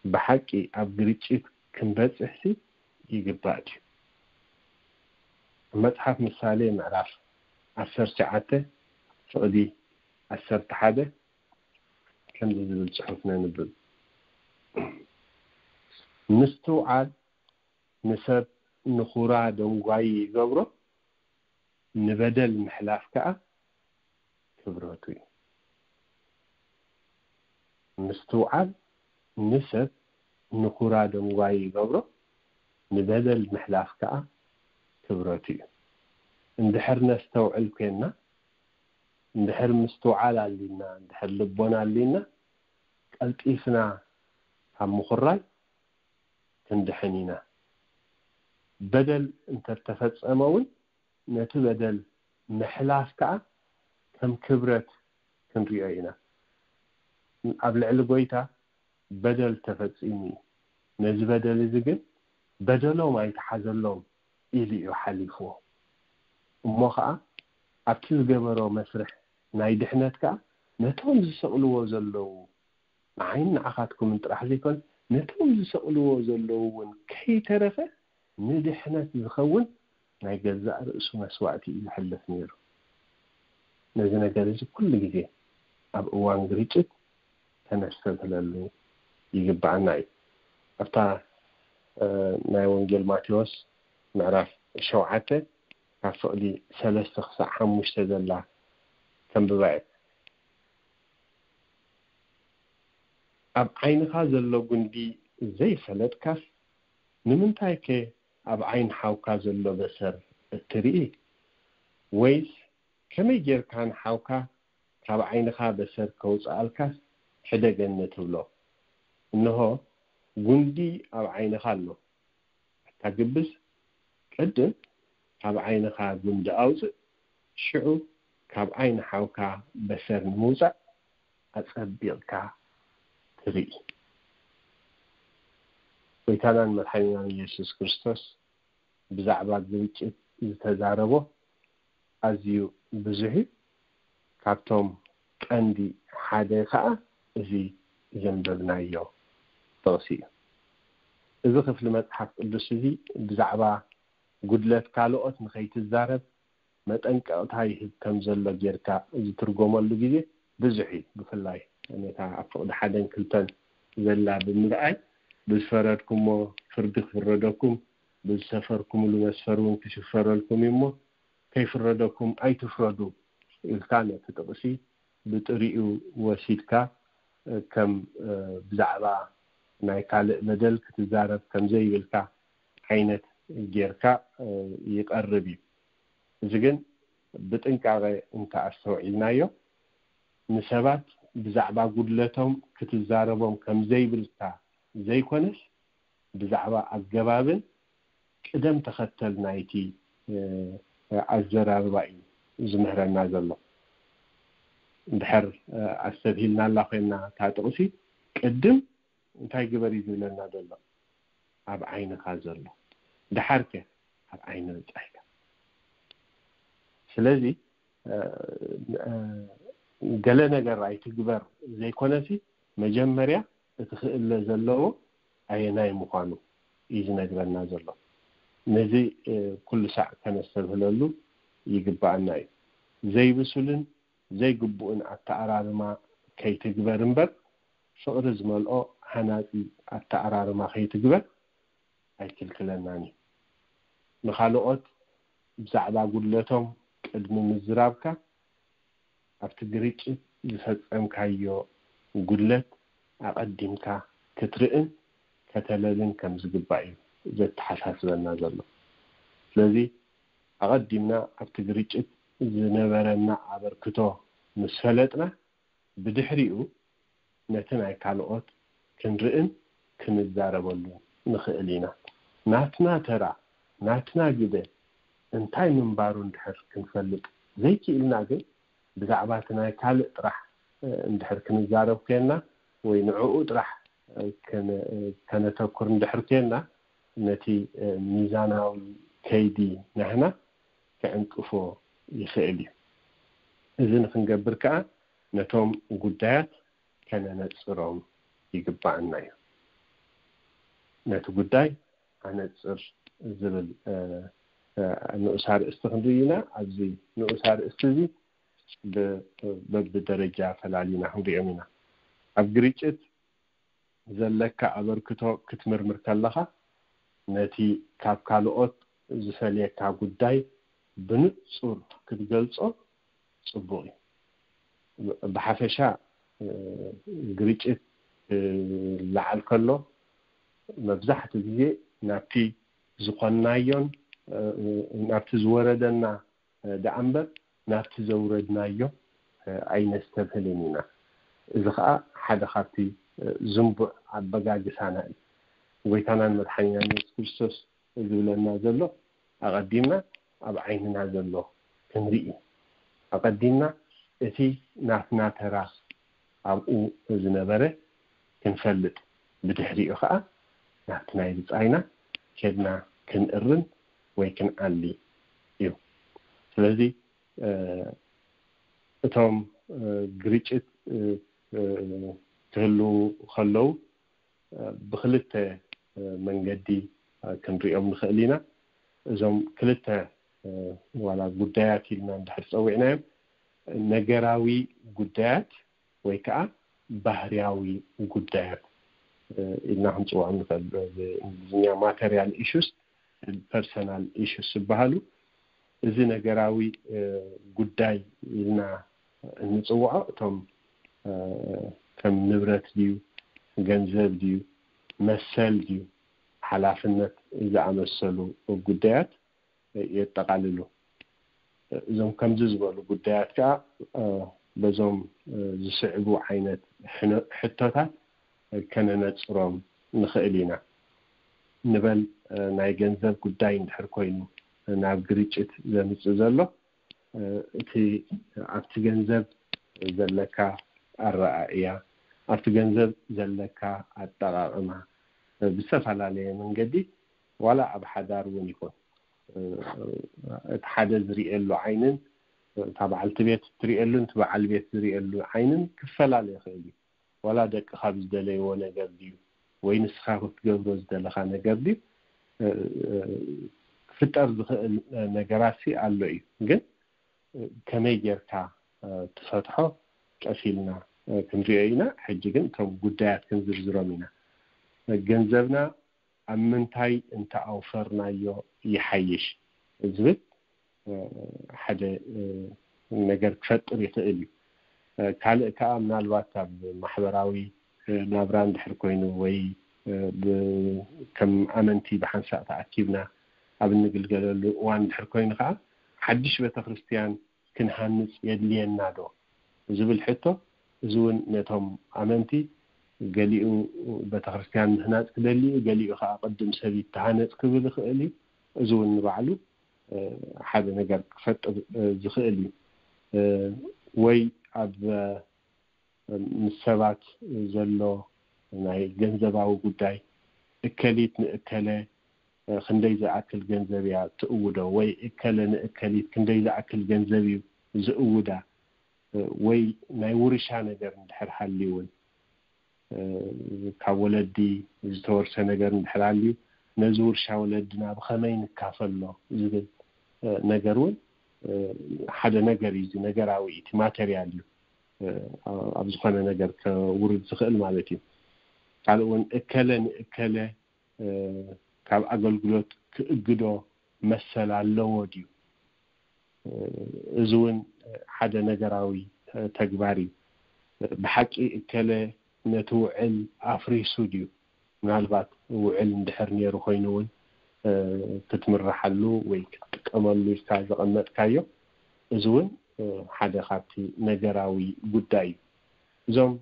ብሓቂ ኣብ ግርጭት ክንበጽሕሲ ይግባእ ድዩ? ኣብ መጽሓፍ ምሳሌ ምዕራፍ ዓሰርተ ትሽዓተ ፍቕዲ ዓሰርተ ሓደ ከምዚ ዝብል ጽሑፍ ነንብብ። ምስትውዓል ንሰብ ንኹራ ደንጓዪ ይገብሮ፣ ንበደል ምሕላፍ ከኣ ክብረቱ እዩ። ምስትውዓል ንሰብ ንኹራ ደንጓዪ ይገብሮ፣ ንበደል ምሕላፍ ከኣ ክብረቱ እዩ። እንድሕር ነስተውዕል ኮይንና፣ እንድሕር ምስትውዓል ኣሊና፣ እንድሕር ልቦና ኣሊና፣ ቀልጢፍና ካብ ምኹራይ ክንድሕን ኢና። በደል እንተተፈጸመ እውን ነቲ በደል ምሕላፍ ከኣ ከም ክብረት ክንሪኦ ኢና። ኣብ ልዕሊ ጎይታ በደል ተፈጺሙ እዩ። ነዚ በደል እዚ ግን በደሎም ኣይተሓዘሎም ኢሉ እዩ ሓሊፍዎ። እሞ ኸኣ ኣብቲ ዝገበሮ መስርሕ ናይ ድሕነት ከኣ ነቶም ዝሰቕልዎ ዘለዉ፣ ንዓይን ንዓኻትኩምን ጥራሕ ዘይኮነ፣ ነቶም ዝሰቕልዎ ዘለዉ እውን ከይተረፈ ንድሕነት ዝኸውን ናይ ገዛእ ርእሱ መስዋእቲ እዩ ዘሕልፍ ነይሩ። ነዚ ነገር እዚ ኩሉ ግዜ ኣብ እዋን ግርጭት ከነስተብህለሉ ይግባኣና እዩ። ኣብታ ናይ ወንጌል ማቴዎስ ምዕራፍ ሸውዓተ ካብ ፍቕዲ ሰለስተ ክሳዕ ሓሙሽተ ዘላ ከንብባ እየ። ኣብ ዓይንኻ ዘሎ ጉንዲ ዘይፈለጥካስ፣ ንምንታይከ ኣብ ዓይኒ ሓውካ ዘሎ በሰር እትርኢ? ወይስ ከመይ ጌርካ ንሓውካ ካብ ዓይንኻ በሰር ከውጽኣልካስ ሕደገኒ ትብሎ? እንሆ፣ ጉንዲ ኣብ ዓይንኻ ኣሎ። ኣታ ግብዝ፣ ቅድም ካብ ዓይንኻ ጉንዲ ኣውጽእ፣ ሽዑ ካብ ዓይኒ ሓውካ በሰር ንምውጻእ ኣጸቢቕካ ትርኢ። ጎይታናን መድሓኒናን ኢየሱስ ክርስቶስ ብዛዕባ ግርጭት ዝተዛረቦ ኣዝዩ ብዙሕ እዩ። ካብቶም ቀንዲ ሓደ ከኣ እዚ ዘንበብናዮ ጥቕሲ እዩ። እዚ ክፍሊ መጽሓፍ ቅዱስ እዚ ብዛዕባ ጉድለት ካልኦት ንኸይትዛረብ መጠንቀቕታ ይህብ ከም ዘሎ ጌርካ ዝትርጎመሉ ግዜ ብዙሕ እዩ። ብፍላይ ነታ ኣብ ፍቕዲ ሓደን ክልተን ዘላ ብምርኣይ፣ ብዝፈረድኩሞ ፍርዲ ክፍረደኩም፣ ብዝሰፈርኩምሉ መስፈር እውን ክሽፈረልኩም እዩ እሞ፣ ከይፍረደኩም ኣይትፍረዱ ኢልካ ነቲ ጥቕሲ ብጥሪኡ ወሲድካ፣ ከም ብዛዕባ ናይ ካልእ በደል ክትዛረብ ከምዘይብልካ ዓይነት ጌርካ ይቀርብ እዩ። እዚ ግን ብጥንቃቐ እንተኣስተውዒልናዮ፣ ንሰባት ብዛዕባ ጉድለቶም ክትዛረቦም ከምዘይብልካ ዘይኮነስ፣ ብዛዕባ ኣገባብን ቅደም ተኸተል ናይቲ ኣዘራርባ እዩ ዝምህረና ዘሎ። እንድሕር ኣስተብሂልናላ ኮይና እታ ጥቕሲ፣ ቅድም እንታይ ግበር እዩ ዝብለና ዘሎ? ኣብ ዓይንኻ ዘሎ። ደሓርከ ኣብ ዓይኒ ብጻይካ። ስለዚ ገለ ነገር ኣይትግበር ዘይኮነሲ፣ መጀመርያ እቲ ክእለ ዘለዎ ኣየናይ ምዃኑ እዩ ዝነግረና ዘሎ። ነዚ ኩሉ ሳዕ ከነስተብህለሉ ይግባኣና እዩ። ዘይብሱልን ዘይግቡእን ኣተኣራርማ ከይትግበር እምበር፣ ፍቕሪ ዝመልኦ ሃናጺ ኣተኣራርማ ከይትግበር ኣይክልክለናን እዩ። ንኻልኦት ብዛዕባ ጉድለቶም ቅድሚ ምዝራብካ፣ ኣብቲ ግርጭት ዝፈጸምካዮ ጉድለት ኣቐዲምካ ክትርእን ከተለልን ከም ዝግባእ እዩ ዘተሓሳስበና ዘሎ። ስለዚ ኣቐዲምና ኣብቲ ግርጭት ዝነበረና ኣበርክቶ ምስ ፈለጥና፣ ብድሕሪኡ ነቲ ናይ ካልኦት ክንርእን ክንዛረበሉን ንኽእል ኢና። ናትና ተራ፣ ናትና ግደ እንታይ ምንባሩ እንድሕር ክንፈልጥ ዘይክኢልና ግን፣ ብዛዕባ እቲ ናይ ካልእ ጥራሕ እንድሕር ክንዛረብ ኮይንና ወይ ንዕኡ ጥራሕ ከነተኩር እንድሕር ኮይንና፣ ነቲ ሚዛናዊ ከይዲ ናህና ክዕንቅፎ ይኽእል እዩ። እዚ ንክንገብር ከኣ ነቶም ጉዳያት ከነነጽሮም ይግባኣና እዩ። ነቲ ጉዳይ ኣነጽር ዝብል ንኡስ ኣርእስቲ ክንርኢ ኢና። ኣብዚ ንኡስ ኣርእስቲ እዚ በብደረጃ ፈላሊና ክንሪኦም ኢና። ኣብ ግርጭት ዘለካ ኣበርክቶ ክትምርምር ከለኻ፣ ነቲ ካብ ካልኦት ዝፈልየካ ጉዳይ ብንጹር ክትገልጾ ጽቡቕ እዩ። ብሓፈሻ ግርጭት ክለዓል ከሎ፣ መብዛሕትኡ ግዜ ናብቲ ዝኾንናዮን ናብቲ ዝወረደና ደኣ እምበር፣ ናብቲ ዘውረድናዮ ኣይነስተብህልን ኢና። እዚ ኸኣ ሓደ ካብቲ ዝንቡዕ ኣበጋግሳና እዩ። ጎይታናን መድሓኒናን የሱስ ክርስቶስ ዝብለና ዘሎ፣ ኣቐዲምና ኣብ ዓይንና ዘሎ ክንርኢ፣ ኣቐዲምና እቲ ናትና ተራ ኣብኡ ዝነበረ ክንፈልጥ፣ ብድሕሪኡ ኸኣ ናብቲ ናይ ብጻይና ኬድና ክንእርም ወይ ክንኣሊ እዩ። ስለዚ እቶም ግርጭት ክህልዉ ከለዉ፣ ብክልተ መንገዲ ክንሪኦም ንኽእል ኢና። እዞም ክልተ ዋላ ጉዳያት ኢልና እንድሕር ጸዊዕናዮም፣ ነገራዊ ጉዳያት ወይ ከዓ ባህርያዊ ጉዳያት ኢልና ክንጽውዖም ንኽእል። ብእንግሊዝኛ ማተሪያል ኢሹስ፣ ፐርሰናል ኢሹስ ዝበሃሉ። እዚ ነገራዊ ጉዳይ ኢልና እንጽውዖ፣ እቶም ከም ንብረት ድዩ፣ ገንዘብ ድዩ፣ መሰል ድዩ፣ ሓላፍነት ዝኣመሰሉ ጉዳያት የጠቓልሉ። እዞም ከምዚ ዝበሉ ጉዳያት ከዓ በዞም ዝስዕቡ ዓይነት ሕቶታት ከነነጽሮም ንኽእል ኢና። ንበል፣ ናይ ገንዘብ ጉዳይ እንድሕር ኮይኑ ናብ ግርጭት ዘምጽእ ዘሎ፣ እቲ ኣብቲ ገንዘብ ዘለካ ኣረኣእያ፣ ኣብቲ ገንዘብ ዘለካ ኣጠቓቕማ፣ ብዝተፈላለየ መንገዲ፣ ዋላ ኣብ ሓዳር እውን ይኹን፣ እቲ ሓደ ዝርእየሉ ዓይንን እታ በዓልቲ ቤት እትርእየሉን እቲ በዓል ቤት ዝርእየሉ ዓይንን ክፈላለ ይኽእል እዩ። ዋላ ደቅኻ ብዝደለይዎ ነገር ድዩ፣ ወይ ንስኻ ክትገብሮ ዝደለኻ ነገር ድዩ፣ ክፍጠር ዝኽእል ነገራት ኣሎ እዩ። ግን ከመይ ጌርካ ትፈትሖ ቀስ ኢልና ክንሪኦ ኢና። ሕጂ ግን እቶም ጉዳያት ክንዝርዝሮም ኢና። ገንዘብና ኣብ ምንታይ እንተኣውፈርናዮ ይሓይሽ ዝብል ሓደ ነገር ክፈጥር ይኽእል እዩ። ካልእ ከዓ ምናልባት ኣብ ማሕበራዊ ናብራ እንድሕር ኮይኑ ወይ ከም ኣመንቲ ብሓንሳእ ተኣኪብና ኣብ እንግልገለሉ እዋን ድሕር ኮይኑ ከዓ ሓድሽ ቤተክርስትያን ክንሃንፅ የድልየና ዶ ዝብል ሕቶ፣ እዚ እውን ነቶም ኣመንቲ ገሊኡ ቤተክርስትያን ምህናፅ ክደሊ እዩ፣ ገሊኡ ከዓ ቅድም ሰብ ይተሃነፅ ክብል ይኽእል እዩ። እዚ እውን ንባዕሉ ሓደ ነገር ክፈጥር ዝኽእል እዩ። ወይ ኣብ ምስ ሰባት ዘሎ ናይ ገንዘባዊ ጉዳይ፣ እከሊት ንእከለ ክንደይ ዝኣክል ገንዘብ እያ ትእውዶ፣ ወይ እከለ ንእከሊት ክንደይ ዝኣክል ገንዘብ እዩ ዝእውዳ፣ ወይ ናይ ውርሻ ነገር እንድሕር ሃልዩ እውን ካብ ወለዲ ዝተወርሰ ነገር እንድሕር ሃልዩ፣ ነዚ ውርሻ ወለድና ብኸመይ ንካፈሎ ዝብል ነገር እውን ሓደ ነገር እዩ። እዚ ነገራዊ እቲ ማተርያል እዩ፣ ኣብ ዝኾነ ነገር ከውርድ ዝኽእል ማለት እዩ። ካልእ እውን እከለ ንእከለ ካብ ኣገልግሎት ክእግዶ መሰል ኣለዎ ድዩ? እዚ እውን ሓደ ነገራዊ ተግባር እዩ። ብሓቂ እከለ ነቲ ውዕል ኣፍሪሱ ድዩ? ምናልባት ውዕል እንድሕር ነይሩ ኮይኑ እውን ክትምርሓሉ ወይ ክትጥቀመሉ ኢልካ ዘቐመጥካዮ፣ እዚ እውን ሓደ ካብቲ ነገራዊ ጉዳይ እዩ። እዞም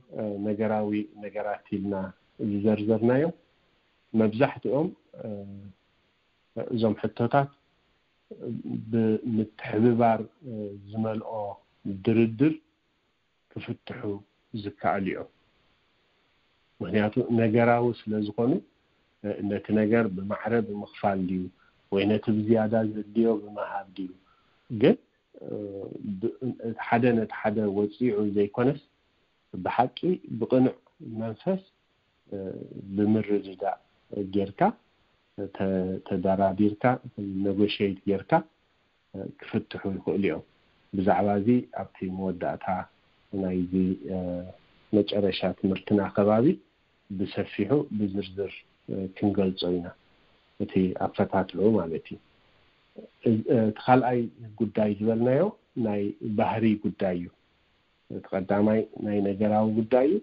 ነገራዊ ነገራት ኢልና ዝዘርዘርናዮም መብዛሕትኦም እዞም ሕቶታት ብምትሕብባር ዝመልኦ ድርድር ክፍትሑ ዝከኣሉ እዮም። ምክንያቱ ነገራዊ ስለ ዝኾኑ ነቲ ነገር ብማዕረ ብምኽፋል ድዩ ወይ ነቲ ብዝያዳ ዘድልዮ ብምሃብ ድዩ፣ ግን ሓደ ነቲ ሓደ ወፂዑ ዘይኮነስ ብሓቂ ብቕኑዕ መንፈስ ብምርድዳእ ጌርካ ተደራዲርካ ነጎሸይት ጌርካ ክፍትሑ ይኽእሉ እዮም። ብዛዕባ እዚ ኣብቲ መወዳእታ ናይዚ መጨረሻ ትምህርትና ከባቢ ብሰፊሑ ብዝርዝር ክንገልጾ ኢና፣ እቲ ኣፈታትሑ ማለት እዩ። እቲ ካልኣይ ጉዳይ ዝበልናዮ ናይ ባህሪ ጉዳይ እዩ። እቲ ቀዳማይ ናይ ነገራዊ ጉዳይ እዩ።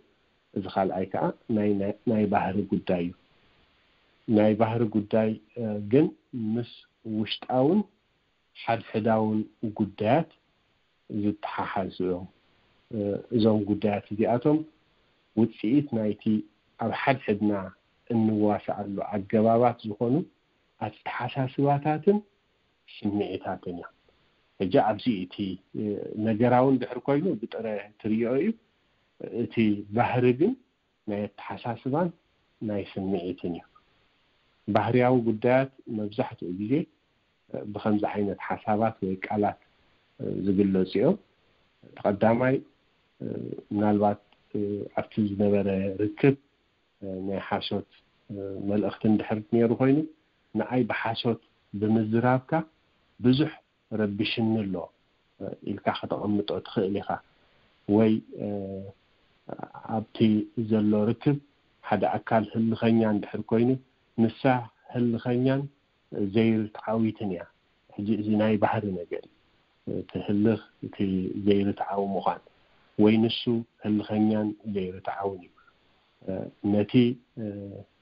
እዚ ካልኣይ ከዓ ናይ ባህሪ ጉዳይ እዩ። ናይ ባህሪ ጉዳይ ግን ምስ ውሽጣውን ሓድሕዳውን ጉዳያት ዝተሓሓዙ እዮም። እዞም ጉዳያት እዚኣቶም ውፅኢት ናይቲ ኣብ ሓድሕድና እንዋስኣሉ ኣገባባት ዝኾኑ ኣተሓሳስባታትን ስምዒታትን እዮም። ሕጂ ኣብዚ እቲ ነገራዊ እንድሕር ኮይኑ ብጥረ ትሪኦ እዩ። እቲ ባህሪ ግን ናይ ኣተሓሳስባን ናይ ስምዒትን እዩ። ባህርያዊ ጉዳያት መብዛሕትኡ ግዜ ብከምዚ ዓይነት ሓሳባት ወይ ቃላት ዝግለፁ እዮም። እቲ ቀዳማይ ምናልባት ኣብቲ ዝነበረ ርክብ ናይ ሓሶት መልእኽቲ እንድሕር ነይሩ ኮይኑ ንኣይ ብሓሶት ብምዝራብካ ብዙሕ ረቢሽኒ ኣሎ ኢልካ ከተቐምጦ ትኽእል ኢኻ። ወይ ኣብቲ ዘሎ ርክብ ሓደ ኣካል ህልኸኛ እንድሕር ኮይኑ ንሳ ህልኸኛን ዘይርትዓዊትን እያ። ሕጂ እዚ ናይ ባህሪ ነገር እዩ። እቲ ህልኽ እቲ ዘይርትዓዊ ምዃን ወይ ንሱ ህልኸኛን ዘይርትዓውን እዩ። ነቲ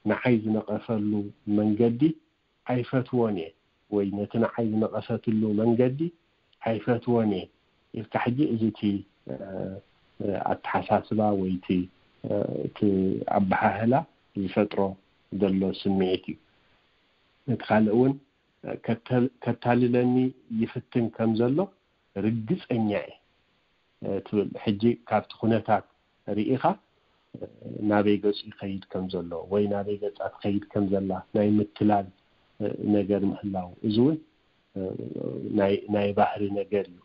ንዓይ ዝነቐፈሉ መንገዲ ኣይፈትዎን እየ ወይ ነቲ ንዓይ ዝነቐፈትሉ መንገዲ ኣይፈትዎን እየ ኢልካ ሕጂ እዚ እቲ ኣተሓሳስባ ወይ እቲ ኣበሃህላ ዝፈጥሮ ዘሎ ስምዒት እዩ። ነቲ ካልእ እውን ከታልለኒ ይፍትን ከም ዘሎ ርግፀኛ እየ ትብል። ሕጂ ካብቲ ኩነታት ርኢኻ ናበይ ገፁ ይኸይድ ከም ዘሎ ወይ ናበይ ገፃ ትኸይድ ከም ዘላ ናይ ምትላል ነገር ምህላው፣ እዚ እውን ናይ ባህሪ ነገር እዩ።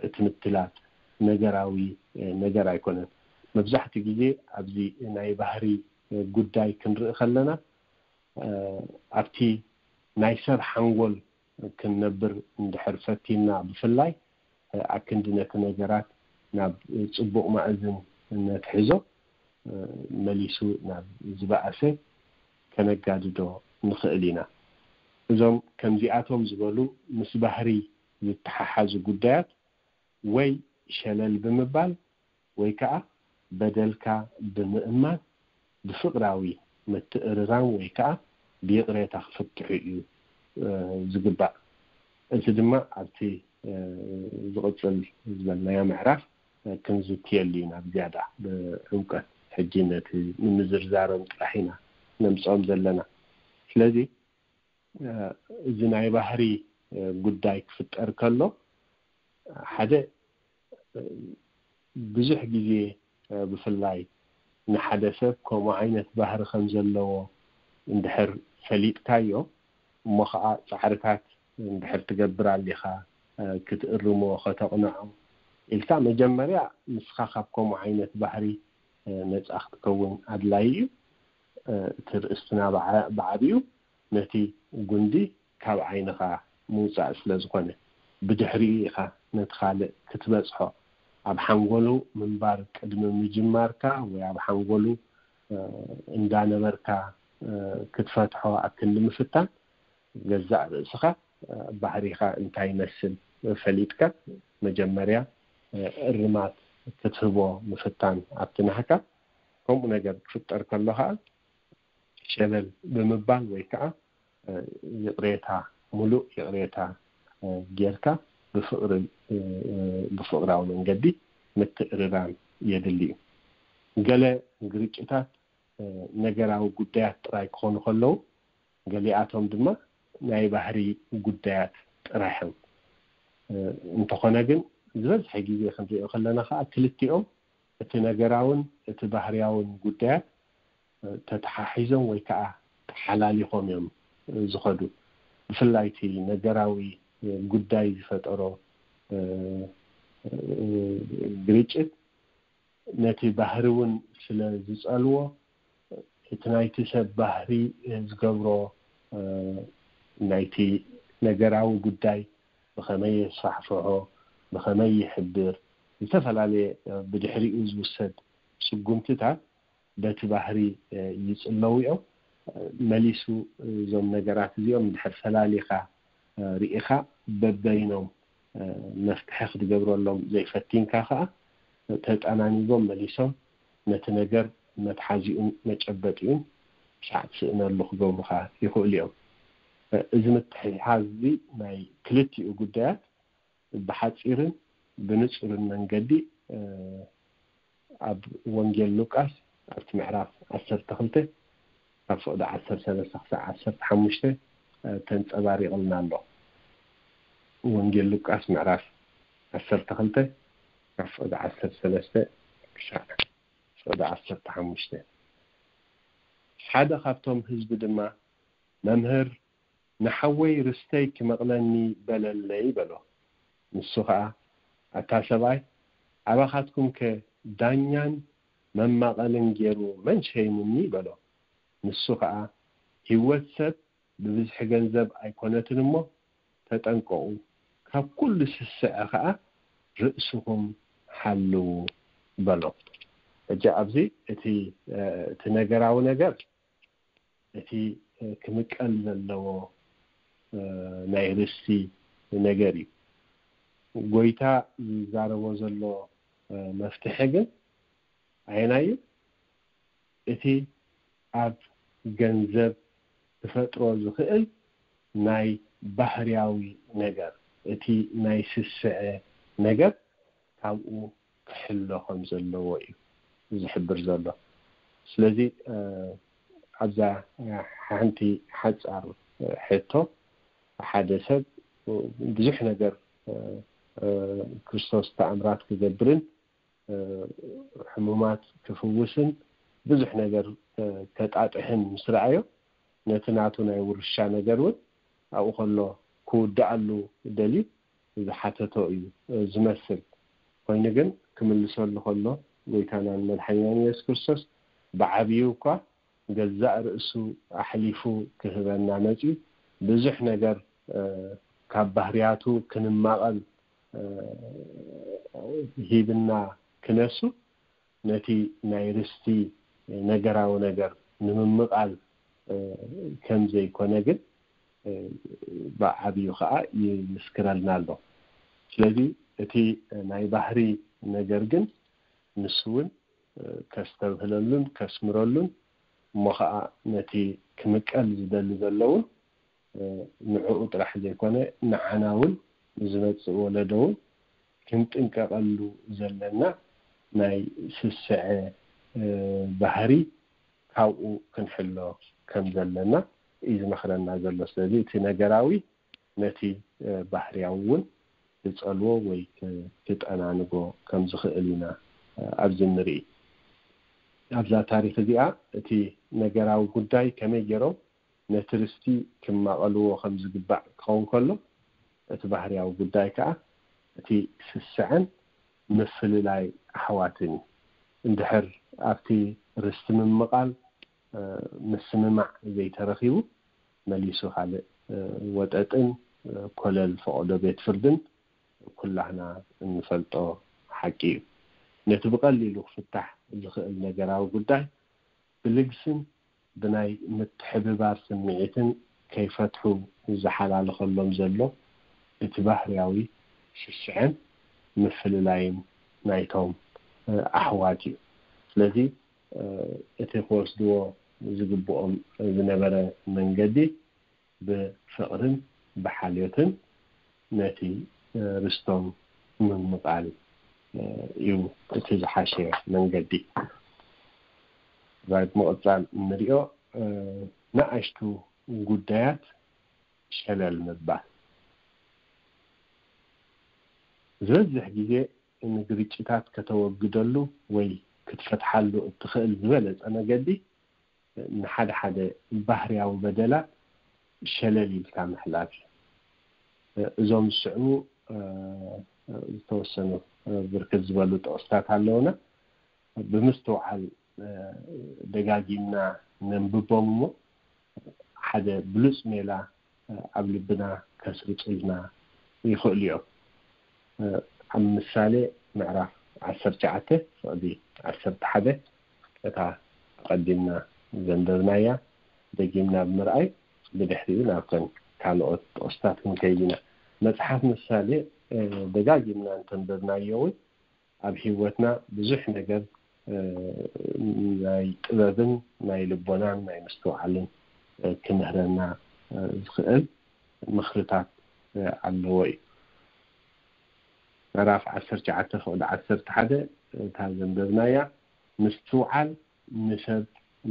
እቲ ምትላል ነገራዊ ነገር ኣይኮነን። መብዛሕትኡ ግዜ ኣብዚ ናይ ባህሪ ጉዳይ ክንርኢ ከለና ኣብቲ ናይ ሰብ ሓንጎል ክንነብር እንድሕር ፈቲንና ብፍላይ ኣክንዲ ነቲ ነገራት ናብ ፅቡቕ ማእዝን ነትሕዞ መሊሱ ናብ ዝበኣሰ ከነጋድዶ ንኽእል ኢና። እዞም ከምዚኣቶም ዝበሉ ምስ ባህሪ ዝተሓሓዙ ጉዳያት ወይ ሸለል ብምባል ወይ ከዓ በደልካ ብምእማን ብፍቕራዊ ምትእርራም ወይ ከዓ ብይቕሬታ ክፍትሑ እዩ ዝግባእ። እዚ ድማ ኣብቲ ዝቕፅል ዝበልናዮ ምዕራፍ ክንዝትየሉ ኢና ብዝያዳ ብዕምቀት። ሕጂ ነቲ ንምዝርዛሮም ጥራሕ ኢና ነምፅኦም ዘለና። ስለዚ እዚ ናይ ባህሪ ጉዳይ ክፍጠር ከሎ ሓደ ብዙሕ ግዜ ብፍላይ ንሓደ ሰብ ከምኡ ዓይነት ባህሪ ከም ዘለዎ እንድሕር ፈሊጥካዮ፣ እሞ ከዓ ፃዕርታት እንድሕር ትገብር ኣሊኻ ክትእርሞ፣ ከተቕንዖ ኢልካ መጀመርያ ንስኻ ካብ ከምኡ ዓይነት ባህሪ ነፃ ክትከውን ኣድላይ እዩ። እቲ ርእስትና ብዓብዩ ነቲ ጉንዲ ካብ ዓይንኻ ምውፃእ ስለ ዝኾነ፣ ብድሕሪኡ ኢኻ ነቲ ካልእ ክትበፅሖ። ኣብ ሓንጎሉ ምንባር ቅድሚ ምጅማርካ ወይ ኣብ ሓንጎሉ እንዳነበርካ ክትፈትሖ ኣክል ንምፍታን፣ ገዛእ ርእስኻ ባህሪኻ እንታይ ይመስል ፈሊጥካ መጀመርያ እርማት ክትህቦ ምፍታን ኣብቲ ናህካ። ከምኡ ነገር ክፍጠር ከሎ ከዓ ሸለል ብምባል ወይ ከዓ ይቕሬታ፣ ሙሉእ ይቕሬታ ጌርካ ብፍቕሪ፣ ብፍቕራዊ መንገዲ ምትእርራም የድሊ እዩ። ገለ ግርጭታት ነገራዊ ጉዳያት ጥራይ ክኾኑ ከለዉ፣ ገሊኣቶም ድማ ናይ ባህሪ ጉዳያት ጥራይ እዮም። እንተኾነ ግን ዝበዝሐ ግዜ ክንሪኦ ከለና ከዓ ክልቲኦም እቲ ነገራውን እቲ ባህርያውን ጉዳያት ተተሓሒዞም ወይ ከዓ ተሓላሊኾም እዮም ዝኸዱ። ብፍላይ እቲ ነገራዊ ጉዳይ ዝፈጠሮ ግርጭት ነቲ ባህሪ እውን ስለ ዝጸልዎ፣ እቲ ናይቲ ሰብ ባህሪ ዝገብሮ፣ ናይቲ ነገራዊ ጉዳይ ብኸመይ የስፋሕፍሖ፣ ብኸመይ ይሕብር፣ ዝተፈላለየ ብድሕሪኡ ዝውሰድ ስጉምትታት በቲ ባህሪ ይጽለዉ እዮም። መሊሱ እዞም ነገራት እዚኦም እንድሕር ፈላሊኻ ርኢኻ በበይኖም መፍትሒ ክትገብረሎም ዘይፈቲንካ ከኣ ተጠናኒጎም መሊሶም ነቲ ነገር መትሓዚኡን መጨበጢኡን ሳዕ ትስእነሉ ክገብሩኻ ይኽእሉ እዮም። እዚ ምትሕሓዝ እዚ ናይ ክልቲኡ ጉዳያት ብሓጺርን ብንጹርን መንገዲ ኣብ ወንጌል ሉቃስ ኣብቲ ምዕራፍ ዓሰርተ ክልተ ካብ ፍቕዲ ዓሰርተ ሰለስተ ክሳዕ ዓሰርተ ሓሙሽተ ተንጸባሪቕልና ኣሎ። ወንጌል ሉቃስ ምዕራፍ ዓሰርተ ክልተ ካብ ፍቕዲ ዓሰርተ ሰለስተ ክሳዕ ፍቕዲ ዓሰርተ ሓሙሽተ። ሓደ ካብቶም ህዝቢ ድማ፣ "መምህር፣ ንሓወይ ርስተይ ክመቕለኒ በለለይ" በሎ። ንሱ ኸኣ፣ "ኣታ ሰብኣይ፣ ኣባኻትኩምከ ዳኛን መማቐልን ገይሩ መን ሸይሙኒ?" በሎ። ንሱ ኸኣ፣ "ህይወት ሰብ ብብዝሒ ገንዘብ ኣይኮነትን እሞ፣ ተጠንቀቑ፣ ካብ ኩሉ ስስዐ ኸኣ ርእስኹም ሓልዉ" በሎ። ሕጂ ኣብዚ እቲ፣ እቲ ነገራዊ ነገር፣ እቲ ክምቀል ዘለዎ ናይ ርስቲ ነገር እዩ። ጎይታ ዝዛረቦ ዘሎ መፍትሒ ግን ኣየናይ እዩ? እቲ ኣብ ገንዘብ ክፈጥሮ ዝኽእል ናይ ባህርያዊ ነገር፣ እቲ ናይ ስስዐ ነገር ካብኡ ክሕሎ ከም ዘለዎ እዩ ዝሕብር ዘሎ። ስለዚ ኣብዛ ሓንቲ ሓጻር ሕቶ፣ ሓደ ሰብ ብዙሕ ነገር ክርስቶስ ተኣምራት ክገብርን ሕሙማት ክፍውስን ብዙሕ ነገር ከጣጥሕን ምስ ረኣዮ፣ ነቲ ናቱ ናይ ውርሻ ነገር እውን ኣብኡ ከሎ ክውድኣሉ ደልዩ ዝሓተቶ እዩ ዝመስል። ኮይኑ ግን ክምልሰሉ ከሎ፣ ጎይታናን መድሓኒናን የሱስ ክርስቶስ ብዓብዩ እኳ ገዛእ ርእሱ ኣሕሊፉ ክህበና መፅዩ፣ ብዙሕ ነገር ካብ ባህርያቱ ክንማቐል ሂብና ክነሱ፣ ነቲ ናይ ርስቲ ነገራዊ ነገር ንምምቓል ከም ዘይኮነ ግን ብዓብዩ ከዓ ይምስክረልና ኣሎ። ስለዚ እቲ ናይ ባህሪ ነገር ግን ንሱ እውን ከስተብህለሉን ከስምረሉን እሞ ኸዓ ነቲ ክምቀል ዝደሊ ዘለውን ንዕኡ ጥራሕ ዘይኮነ ንዓና እውን ንዝመፅእ ወለዶ እውን ክንጥንቀቐሉ ዘለና ናይ ስስዐ ባህሪ ካብኡ ክንሕሎ ከም ዘለና እዩ ዝመኽረና ዘሎ። ስለዚ እቲ ነገራዊ ነቲ ባህርያዊ እውን ክጸልዎ ወይ ክጠናንጎ ከም ዝኽእል ኢና ኣብዚ ንርኢ። ኣብዛ ታሪኽ እዚኣ እቲ ነገራዊ ጉዳይ ከመይ ገይሮም ነቲ ርስቲ ክማቐልዎ ከም ዝግባእ ክኸውን ከሎ፣ እቲ ባህርያዊ ጉዳይ ከኣ እቲ ስስዐን ምፍልላይ ኣሕዋትን እዩ። እንድሕር ኣብቲ ርስቲ ምምቓል ምስምማዕ ዘይተረኺቡ፣ መሊሱ ካልእ ወጠጥን ኮለል ፈቐዶ ቤት ፍርድን ኩላህና እንፈልጦ ሓቂ እዩ። ነቲ ብቐሊሉ ክፍታሕ ዝኽእል ነገራዊ ጉዳይ ብልግስን ብናይ ምትሕብባር ስምዒትን ከይፈትሑ ዝሓላልኸሎም ዘሎ እቲ ባህርያዊ ስስዐን ምፍልላይን ናይቶም ኣሕዋት እዩ። ስለዚ እቲ ክወስድዎ ዝግብኦም ዝነበረ መንገዲ ብፍቕርን ብሓልዮትን ነቲ ርስቶም ምምቓል እዩ እቲ ዝሓሸ መንገዲ። ብምቕፃል እንሪኦ ንኣሽቱ ጉዳያት ሸለል ምባል ዝበዝሕ ግዜ ንግርጭታት ከተወግደሉ ወይ ክትፈትሓሉ እትኽእል ዝበለፀ መገዲ ንሓደ ሓደ ባህርያዊ በደላት ሸለል ኢልካ ምሕላፍ እዩ። እዞም ዝስዕቡ ዝተወሰኑ ብርክት ዝበሉ ጥቕስታት ኣለውና። ብምስትውዓል ደጋጊምና ነንብቦም እሞ ሓደ ብሉፅ ሜላ ኣብ ልብና ከስርፁልና ይኽእሉ እዮም። ኣብ ምሳሌ ምዕራፍ ዓሰርተ ትሽዓተ ፍቕዲ ዓሰርተ ሓደ እታ ኣቐዲምና ዘንበብናያ ደጊምና ብምርኣይ ብድሕሪኡ ናብተን ካልኦት ጥቕስታት ክንከይድ ኢና። መፅሓፍ ምሳሌ ደጋጊምና እንተንበብናዮ እውን ኣብ ህይወትና ብዙሕ ነገር ናይ ጥበብን ናይ ልቦናን ናይ ምስትውዓልን ክምህረና ዝኽእል ምኽርታት ኣለዎ እዩ። ምዕራፍ ዓሰርተ ትሽዓተ ፍቕዲ ዓሰርተ ሓደ እታ ዘንበብናያ ምስትውዓል ንሰብ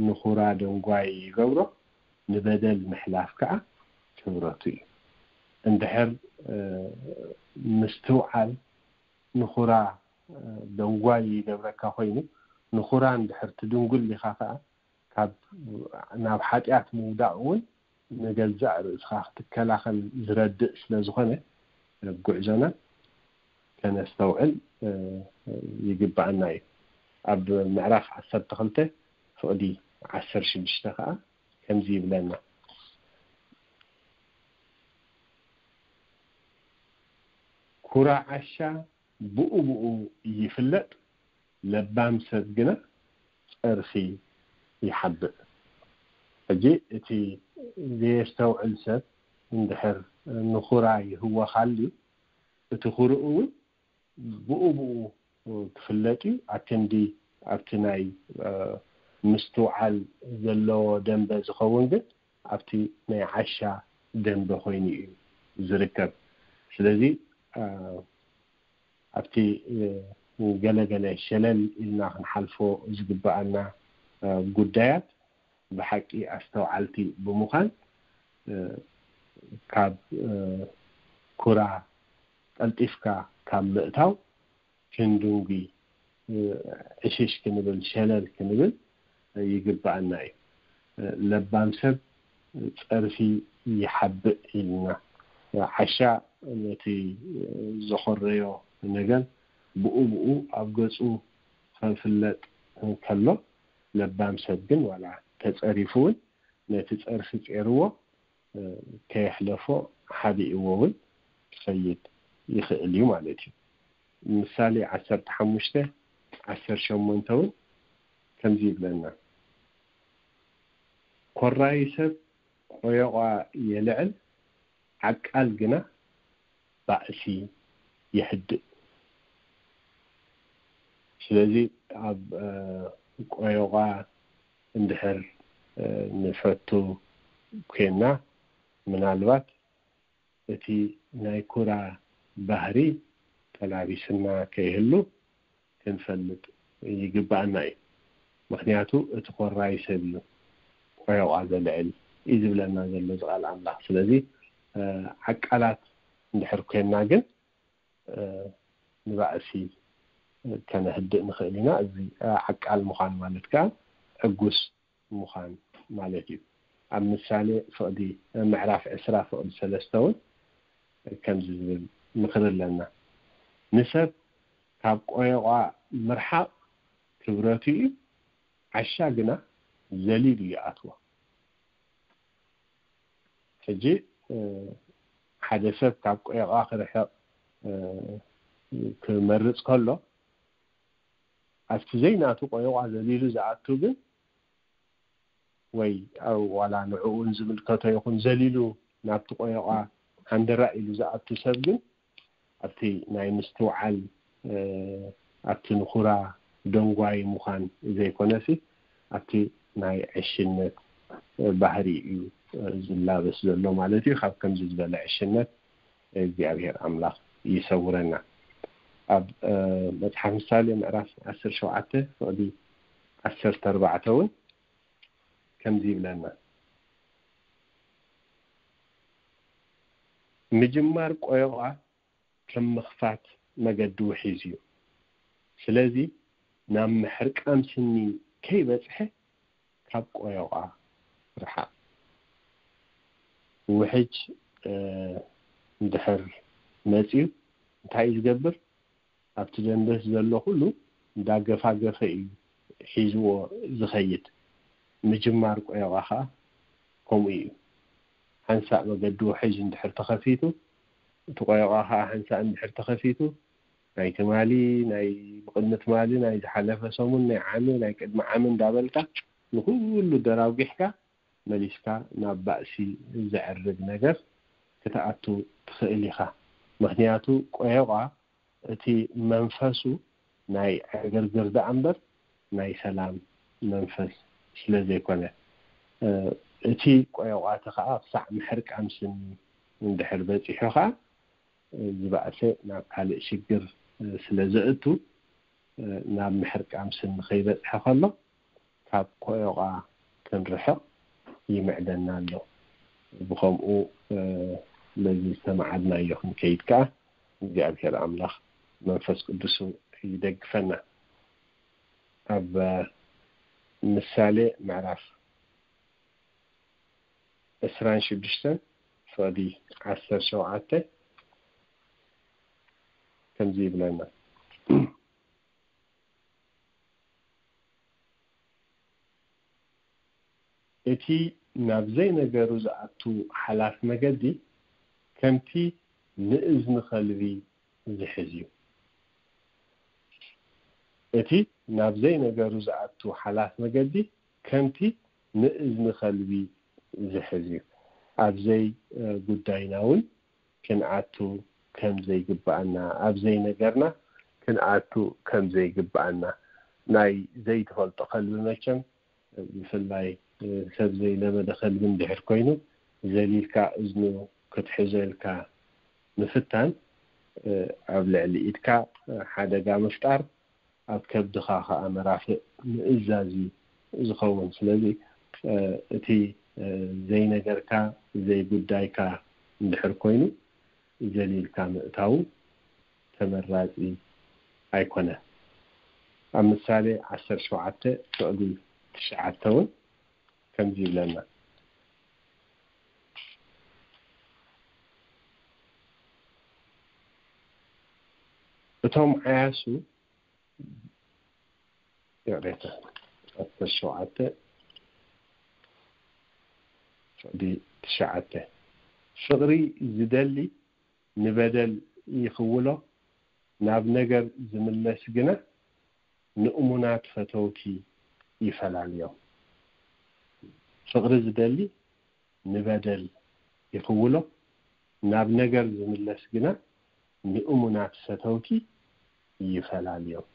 ንኹራ ደንጓይ ይገብሮ፣ ንበደል ምሕላፍ ከዓ ክብረቱ እዩ። እንድሕር ምስትውዓል ንኹራ ደንጓይ ይገብረካ ኮይኑ ንኹራ እንድሕር ትድንጉል ኢኻ ከዓ ካብ ናብ ሓጢኣት ምውዳቕ እውን ንገዛእ ርእስኻ ክትከላኸል ዝረድእ ስለ ዝኾነ ጉዕዞና ከነስተውዕል ይግባኣና እዩ። ኣብ ምዕራፍ ዓሰርተ ክልተ ፍቕዲ ዓሰርተ ሽዱሽተ ከዓ ከምዚ ይብለና። ኩራ ዓሻ ብኡ ብኡ ይፍለጥ፣ ለባም ሰብ ግና ጸርፊ ይሓብእ። ሕጂ እቲ ዘየስተውዕል ሰብ እንድሕር ንኹራ ይህወኻሉ፣ እቲ ኩርኡ እውን ብኡ ብኡ ክፍለጥ እዩ። ኣክንዲ ኣብቲ ናይ ምስትውዓል ዘለዎ ደንበ ዝኸውን ግን ኣብቲ ናይ ዓሻ ደንበ ኮይኑ እዩ ዝርከብ። ስለዚ ኣብቲ ገለገለ ሸለል ኢልና ክንሓልፎ ዝግበኣና ጉዳያት ብሓቂ ኣስተውዓልቲ ብምዃን ካብ ኩራ ቀልጢፍካ ካብ ምእታው ክንድንጉ ዕሽሽ ክንብል ሸለል ክንብል ይግበኣና እዩ። ለባም ሰብ ጸርፊ ይሓብእ ኢልና ዓሻ ነቲ ዘኾረዮ ነገር ብኡ ብኡ ኣብ ገጹ ከፍለጥ ከሎ ለባም ሰብ ግን ዋላ ተጸሪፉ እውን ነቲ ጸርፊ ጼርዎ ከየሕለፎ ሓቢእዎ እውን ክኸይድ ይኽእል እዩ ማለት እዩ። ምሳሌ ዓሰርተ ሓሙሽተ ዓሰርተ ሸሞንተ እውን ከምዚ ይብለና። ኮራይ ሰብ ቆዮቋ የልዕል፣ ዓቃል ግና ባእሲ የህድእ። ስለዚ ኣብ ቆዮቋ ንፈቱ ኮይና፣ ምናልባት እቲ ናይ ኩራ ባህሪ ተላቢስና ከይህሉ ክንፈልጥ ይግባኣና እዩ። ምክንያቱ እቲ ኮራይ ሰብ እዩ ቆዮቋ ዘልዕል እዩ ዝብለና ዘሎ እዚ ቃል ኣምላኽ። ስለዚ ዓቃላት እንድሕር ኮይና ግን ንባእሲ ከነህድእ ንኽእል ኢና። እዚ ዓቃል ምዃን ማለት ከዓ ዕጉስ ምዃን ማለት እዩ። ኣብ ምሳሌ ፍቕዲ ምዕራፍ ዕስራ ፍቕዲ ሰለስተ እውን ከምዚ ዝብል ምኽሪ ኣለና። ንሰብ ካብ ቆዮቋ ምርሓቕ ክብረቱ እዩ፣ ዓሻ ግና ዘሊሉ ይኣትዎ። ሕጂ ሓደ ሰብ ካብ ቆዮቋ ክርሕቕ ክመርጽ ከሎ፣ ኣብቲ ዘይናቱ ቆዮቋ ዘሊሉ ዝኣቱ ግን፣ ወይ ዋላ ንዕኡን ዝምልከቶ ይኹን ዘሊሉ ናብቲ ቆዮቋ ሃንደራ ኢሉ ዝኣቱ ሰብ ግን፣ ኣብቲ ናይ ምስትውዓል ኣብቲ ንኹራ ደንጓይ ምዃን ዘይኮነሲ፣ ኣብቲ ናይ ዕሽነት ባህሪ እዩ ዝላበስ ዘሎ ማለት እዩ። ካብ ከምዚ ዝበለ ዕሽነት እግዚኣብሔር ኣምላኽ ይሰውረና። ኣብ መጽሓፍ ምሳሌ ምዕራፍ ዓሰርተ ሸውዓተ ፍቕዲ ዓሰርተ ኣርባዕተ እውን ከምዚ ይብለና፣ ምጅማር ቆዮቓ ከም ምኽፋት መገዲ ውሒዝ እዩ። ስለዚ ናብ ምሕርቃም ስኒ ከይበጽሐ ካብ ቆዮቓ ርሓቕ። ውሕጅ እንድሕር መጺኡ እንታይ እዩ ዝገብር? ኣብቲ ደንበስ ዘሎ ኩሉ እንዳገፋገፈ እዩ ሒዝዎ ዝኸይድ። ምጅማር ቆዮቓ ኸዓ ከምኡ እዩ። ሓንሳእ መገዲ ውሕጅ እንድሕር ተኸፊቱ፣ እቲ ቆዮቓ ኸዓ ሓንሳእ እንድሕር ተኸፊቱ፣ ናይ ትማሊ፣ ናይ ብቕድሚ ትማሊ፣ ናይ ዝሓለፈ ሰሙን፣ ናይ ዓሚ፣ ናይ ቅድሚ ዓሚ እንዳበልካ ንኹሉ ደራጒሕካ መሊስካ ናብ ባእሲ ዘዕርግ ነገር ክትኣቱ ትኽእል ኢኻ። ምኽንያቱ ቆዮቓ እቲ መንፈሱ ናይ ዕግርግር ደኣ እምበር ናይ ሰላም መንፈስ ስለ ዘይኮነ፣ እቲ ቆዮቋቲ ኸዓ ክሳዕ ምሕርቃም ስኒ እንድሕር በጺሑ ኸዓ፣ ዝባእሰ ናብ ካልእ ሽግር ስለ ዘእቱ፣ ናብ ምሕርቃም ስኒ ከይበጽሐ ከሎ ካብ ቆዮቋ ክንርሕቕ ይምዕደና ኣሎ። ብኸምኡ ነዚ ዝተመዓድናዮ ክንከይድ ከኣ እግዚኣብሔር ኣምላኽ መንፈስ ቅዱሱ ይደግፈና። ኣብ ምሳሌ ምዕራፍ ዕስራን ሽዱሽተን ፍቕዲ ዓሰርተ ሸውዓተ ከምዚ ይብለና። እቲ ናብ ዘይነገሩ ዝኣቱ ሓላፍ መገዲ ከምቲ ንእዝኒ ኸልቢ ዝሕዝ እዩ። እቲ ናብ ዘይነገሩ ዝኣቱ ሓላፍ መገዲ ከምቲ ንእዝኒ ኸልቢ ዝሕዝ እዩ። ኣብ ዘይጉዳይና እውን ክንኣቱ ከም ዘይግብኣና፣ ኣብ ዘይነገርና ክንኣቱ ከም ዘይግብኣና። ናይ ዘይትፈልጦ ከልቢ መቸም፣ ብፍላይ ሰብ ዘይለመደ ከልቢ እንድሕር ኮይኑ፣ ዘሊልካ እዝኑ ክትሕዞ ኢልካ ምፍታን፣ ኣብ ልዕሊ ኢድካ ሓደጋ ምፍጣር፣ ኣብ ከብድኻ ኸዓ መራፍእ ምእዛዝ እዩ ዝኸውን። ስለዚ እቲ ዘይነገርካ ዘይጉዳይካ እንድሕር ኮይኑ፣ ዘሊልካ ምእታዉ ተመራጺ ኣይኮነን። ኣብ ምሳሌ ዓሰርተ ሸውዓተ ፍቕዲ ትሽዓተ እውን ከምዚ ይብለና። እቶም ዓያሱ፣ ይቕሬታ፣ ዓሰርተ ሸውዓተ ፍቕዲ ትሽዓተ፣ ፍቕሪ ዝደሊ ንበደል ይኽውሎ፣ ናብ ነገር ዝምለስ ግና ንእሙናት ፈተውቲ ይፈላልዮም። ፍቕሪ ዝደሊ ንበደል ይኽውሎ፣ ናብ ነገር ዝምለስ ግና ንእሙናት ፈተውቲ ይፈላልዮም።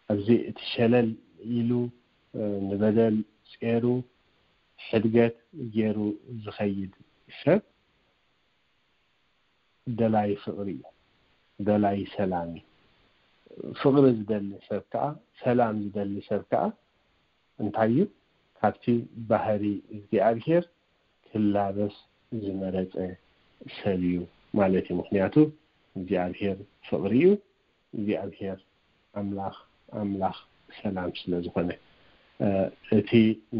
ኣብዚ እቲ ሸለል ኢሉ ንበደል ጼሩ ሕድገት ገይሩ ዝኸይድ ሰብ ደላይ ፍቕሪ እዩ፣ ደላይ ሰላም እዩ። ፍቕሪ ዝደሊ ሰብ ከዓ፣ ሰላም ዝደሊ ሰብ ከዓ እንታይ እዩ? ካብቲ ባህሪ እግዚኣብሔር ክላበስ ዝመረጸ ሰብ እዩ ማለት እዩ። ምክንያቱ እግዚኣብሔር ፍቕሪ እዩ። እግዚኣብሔር ኣምላኽ ኣምላኽ ሰላም ስለ ዝኾነ፣ እቲ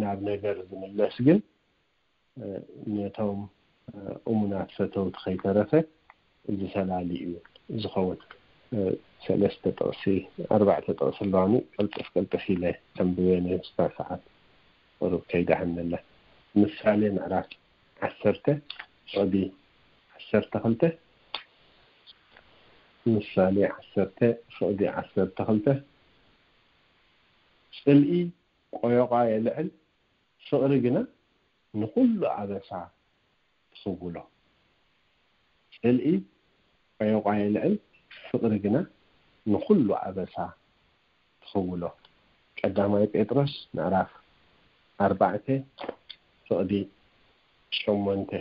ናብ ነገር ዝምለስ ግን ነቶም እሙናት ፈተውቲ ከይተረፈ እዚ ሰላሊ እዩ ዝኸውን። ሰለስተ ጥቕሲ፣ ኣርባዕተ ጥቕሲ ኣለዋኒ፣ ቅልጥፍ ቅልጥፍ ኢለ ኣንብበ፣ ንስታ ሰዓት ቁሩብ ከይደሃነለ። ምሳሌ ምዕራፍ ዓሰርተ ፍቕዲ ዓሰርተ ክልተ። ምሳሌ ዓሰርተ ፍቕዲ ዓሰርተ ክልተ። ጽልኢ ቆዮቓ የልዕል፣ ፍቕሪ ግና ንኹሉ ኣበሳ ትኽውሎ። ጽልኢ ቆዮቋ የልዕል፣ ፍቕሪ ግና ንኹሉ ኣበሳ ትኽውሎ። ቀዳማይ ጴጥሮስ ምዕራፍ ኣርባዕተ ፍቕዲ ሸሞንተ።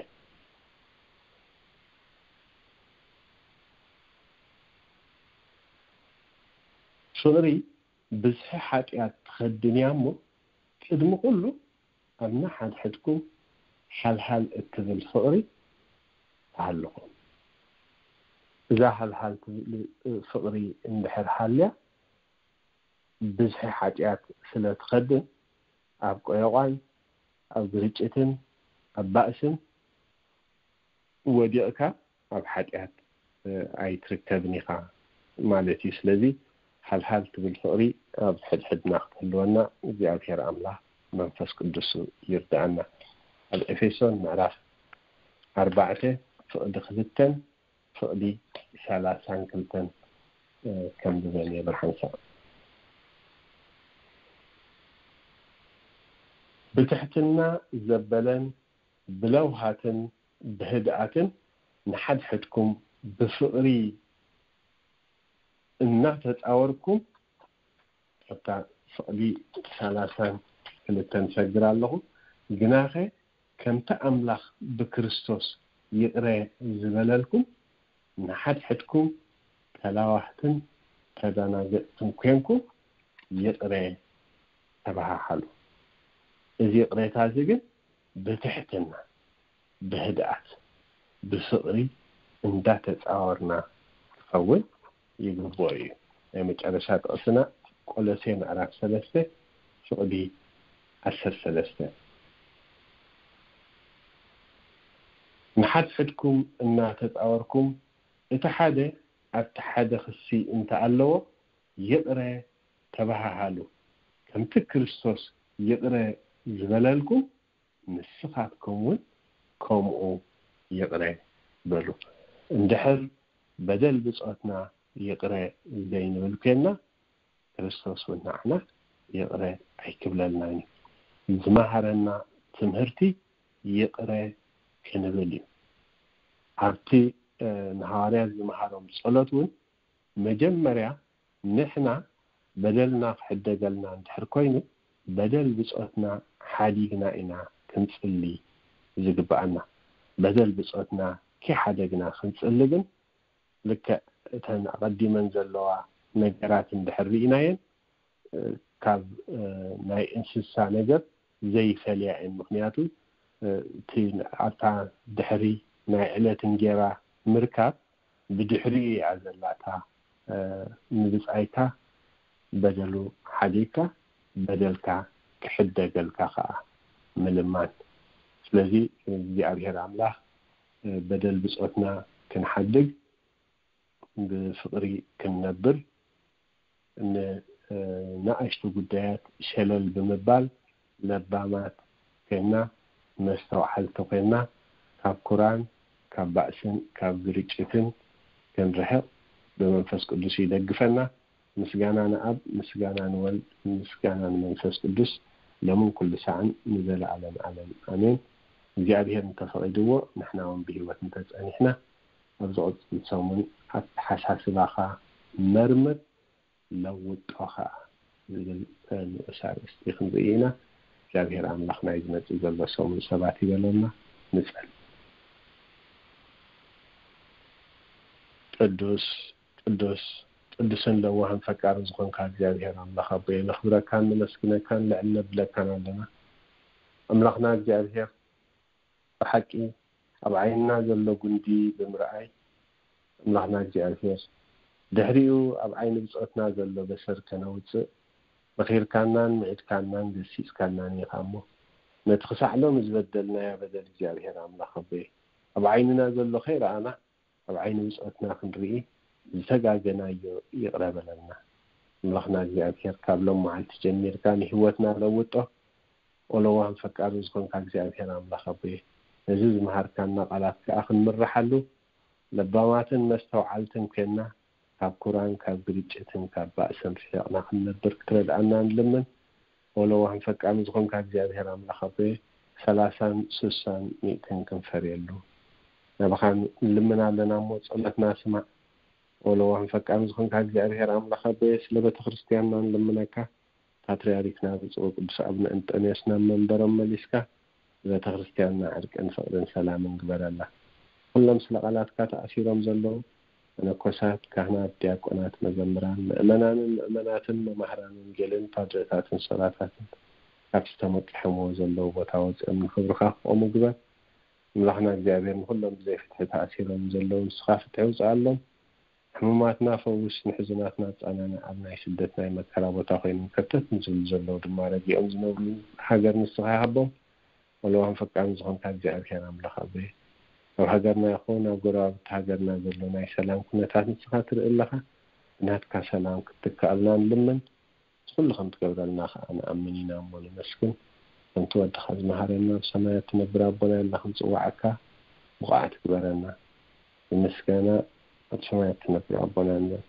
ፍቕሪ ብዝሒ ሓጢኣት ትኸድን እያ እሞ፣ ቅድሚ ኩሉ ኣብ ንሓድሕድኩም ሓልሃል እትብል ፍቕሪ ትሃልኹም። እዛ ሓልሃል ትብል ፍቕሪ እንድሕር ሃልያ፣ ብዝሒ ሓጢኣት ስለ ትኸድን፣ ኣብ ቆዮቋን ኣብ ግርጭትን ኣብ ባእስን ወዲቕካ ኣብ ሓጢኣት ኣይትርከብን ኢኻ ማለት እዩ። ስለዚ ሓልሃል ትብል ፍቕሪ ኣብ ሕድሕድና ክትህልወና እግዚኣብሔር ኣምላኽ መንፈስ ቅዱስ ይርድኣና። ኣብ ኤፌሶን ምዕራፍ ኣርባዕተ ፍቕዲ ክልተን ፍቕዲ ሰላሳን ክልተን ከም ዝበል የብርሃንሳ። ብትሕትና ዘበለን ብለውሃትን ብህድኣትን ንሓድሕድኩም ብፍቕሪ እናተጻወርኩም፣ ኣብታ ፍቕዲ ሰላሳን ክልተን ሰግር ኣለኹ። ግናኸ ከምቲ ኣምላኽ ብክርስቶስ ይቕረ ዝበለልኩም፣ ንሓድሕድኩም ተላዋህትን ተደናገጽትን ኮንኩም ይቕረ ተበሃሃሉ። እዚ ይቕሬታ እዚ ግን ብትሕትና፣ ብህድኣት፣ ብፍቕሪ እንዳተጻወርና ክኸውን ይግብኦ እዩ። ናይ መጨረሻ ጥቕስና ቆሎሴ ምዕራፍ ሰለስተ ፍቕዲ ዓሰርተ ሰለስተ። ንሓድሕድኩም እናተጻወርኩም፣ እቲ ሓደ ኣብቲ ሓደ ክሲ እንተኣለዎ፣ ይቕረ ተበሃሃሉ። ከምቲ ክርስቶስ ይቕረ ዝበለልኩም፣ ንስኻትኩም እውን ከምኡ ይቕረ በሉ። እንድሕር በደል ብጾትና ይቕረ ዘይንብል ኮይንና፣ ክርስቶስ እውን ንዓና ይቕረ ኣይክብለልናን እዩ። ዝመሃረና ትምህርቲ ይቕረ ክንብል እዩ። ኣብቲ፣ እ፣ ንሃዋርያት ዝመሃሮም ጸሎት እውን መጀመርያ ንሕና በደልና ክሕደገልና እንድሕር ኮይኑ፣ በደል ብጾትና ሓዲግና ኢና ክንጽሊ ዝግብኣና። በደል ብጾትና ከይሓደግና ክንጽሊ ግን፣ ልክዕ እተን ኣቐዲመን ዘለዋ ነገራት እንድሕር ርኢናየን፣ እ፣ ካብ፣ እ፣ ናይ እንስሳ ነገር ዘይፈልያ እየን። ምኽንያቱ፣ እ፣ እቲ ኣብታ ድሕሪ ናይ ዕለት እንጌራ ምርካብ ብድሕሪኡ እያ ዘላታ፣ እ፣ ንብጻይካ በደሉ ሓዲግካ፣ በደልካ ክሕደገልካ ኸኣ ምልማን። ስለዚ እግዚኣብሔር ኣምላኽ፣ እ፣ በደል ብጾትና ክንሓድግ፣ ብፍቕሪ ክንነብር፣ ን-፣ እ፣ ንኣሽቱ ጉዳያት ሸለል ብምባል ለባማት ኮይንና፣ መስተውዓልቲ ኮይንና፣ ካብ ኩራን ካብ ባእስን ካብ ግርጭትን ክንርሕቕ ብመንፈስ ቅዱስ ይደግፈና። ምስጋና ንኣብ፣ ምስጋና ንወልድ፣ ምስጋና ንመንፈስ ቅዱስ፣ ሎምን ኩሉ ሳዕን ንዘለዓለም ዓለም ኣሜን። እግዚኣብሔር እንተፈቒድዎ፣ ንሕና እውን ብህይወት እንተጸኒሕና፣ ኣብ ዝቕጽል ሰሙን ኣተሓሳስባኻ መርምር፣ ለውጦ ኸኣ ዝብል ንኡስ ኣርእስቲ ክንርኢ ኢና። እግዚኣብሔር ኣምላኽ ናይ ዝመጽእ ዘሎ ሰሙን ሰባት ይበለና። ንጸል። ቅዱስ ቅዱስ ቅዱስን ለዋህን ፈቃርን ዝኾንካ እግዚኣብሔር ኣምላኽ ኣቦየ፣ ነኽብረካን ነመስግነካን ልዕል ነብለካን ኣለና። ኣምላኽና እግዚኣብሔር፣ ብሓቂ ኣብ ዓይንና ዘሎ ጉንዲ ብምርኣይ፣ ኣምላኽና እግዚኣብሔር፣ ድሕሪኡ ኣብ ዓይኒ ብጾትና ዘሎ በሰር ከነውጽእ መኺርካናን ምዒድካናን ገሲጽካናን ኢኻ እሞ፣ ነቲ ክሳዕ ሎሚ ዝበደልናዮ በደል እግዚኣብሔር ኣምላኽ ኣቦየ፣ ኣብ ዓይንና ዘሎ ከይረኣና ኣብ ዓይኒ ብጾትና ክንርኢ ዝተጋገናዮ ይቕረ በለልና። ኣምላኽና እግዚኣብሔር፣ ካብ ሎም መዓልቲ ጀሚርካ ንህይወትና ለውጦ። ኦለዋን ፈቃርን ዝኾንካ እግዚኣብሔር ኣምላኽ ኣቦየ፣ ነዚ ዝመሃርካና ቃላት ከኣ ክንምርሓሉ ለባማትን መስተውዓልትን ኮይንና፣ ካብ ኩራን ካብ ግርጭትን ካብ ባእስን ርሒቕና ክንነብር ክትረድኣና ንልምን። ኦለዋን ፈቃርን ዝኾንካ እግዚኣብሔር ኣምላኽ ኣቦየ፣ ሰላሳን ስሳን ሚእትን ክንፈርየሉ ናባኻ ንልምን ኣለና እሞ፣ ጸሎትና ስማዕ። ኦለዋን ፈቃርን ዝኾንካ እግዚኣብሔር ኣምላኽ ኣቦየ፣ ስለ ቤተ ክርስትያንና ንልምነካ። ፓትርያርክና ብፁዕ ቅዱስ ኣቡነ እንጠንዮስ ናብ መንበሮም መሊስካ፣ ንቤተ ክርስትያንና ዕርቅን ፍቕርን ሰላምን ግበረላ። ኩሎም ስለ ቃላትካ ተኣሲሮም ዘለዉ መነኮሳት፣ ካህናት፣ ዲያቆናት፣ መዘምራን፣ ምእመናንን ምእመናትን፣ መማህራን ወንጌልን ፓድረታትን ሰባታትን፣ ካብቲ ተመቂሖምዎ ዘለዉ ቦታ ወፂኦም ንኽብርኻ ክቖሙ ግበር። ኣምላኽና እግዚኣብሔር፣ ንኹሎም ብዘይ ፍትሒ ተኣሲሮም ዘለዉ ንስኻ ፍትሒ ውፅኣሎም። ሕሙማትና ፈውስ፣ ንሕዙናትና ኣጻናንዕ፣ ኣብ ናይ ስደት ናይ መከራ ቦታ ኮይኖም ከርተት ንዝብሉ ዘለዉ ድማ ረጊኦም ዝነብሩሉ ሃገር ንስኻ ሃቦም። ወለዋን ፈቃርን ዝኾንካ እግዚኣብሔር ኣምላኽ ኣቦየ፣ ኣብ ሃገርና ይኹን ኣብ ጎረባብቲ ሃገርና ዘሎ ናይ ሰላም ኩነታት ንስኻ ትርኢ ኣለኻ። ብናትካ ሰላም ክትትክኣልና ንልምን። ንኹሉ ከም ትገብረልና ከኣ ንኣምን ኢና እሞ ነመስግን። ከምቲ ወድኻ ዝመሃረና፣ ኣብ ሰማያት ትነብር ኣቦና ኢልና ክንጽውዓካ ብቑዓት ግበረና። ብምስጋና ኣብ ሰማያት ትነብር ኣቦና ንበል።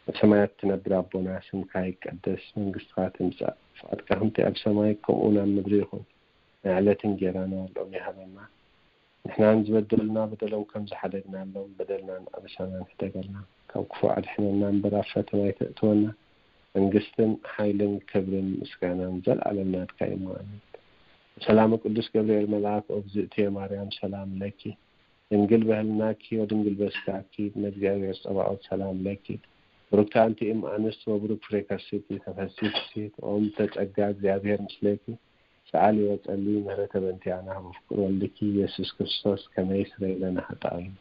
ኣብ ሰማያት ትነብር ኣቦና፣ ስምካ ይቀደስ፣ መንግስትኻ ትምጻእ፣ ፍቓድካ ከምቲ ኣብ ሰማይ ከምኡ እውን ኣብ ምድሪ ይኹን። ናይ ዕለት እንጌራና ሎሚ ሃበና። ንሕናን ዝበደሉና በደሎም ከም ዝሓደግናሎም በደልናን ኣበሳናን ሕደገልና። ካብ ክፉእ ኣድሕነና እምበር ኣብ ፈተና ኣይተእትወና። መንግስትን ሓይልን ክብርን ምስጋናን ዘልኣለም ናትካ እዩ እሞ ኣሜን። ሰላም ቅዱስ ገብርኤል መልኣክ ኦግዝእትየ ማርያም ሰላም ለኪ ድንግል በህልናኪ ወድንግል በስጋኪ እመ እግዚኣብሔር ጸባኦት ሰላም ለኪ ብሩክቲ ኣንቲ እም ኣንስት ወብሩክ ፍሬ ከርሥኪ ተፈሲ ፍስሕት ኦም ተጸጋ እግዚኣብሔር ምስሌኪ ሰኣሊ ወጸሊ ምህረተ በንቲያና በፍቅር ወልድኪ ኢየሱስ ክርስቶስ ከመ ይስረይ ለነ ኃጣውኢነ።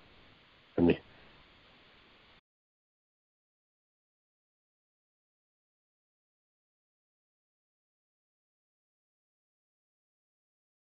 ኣሜን።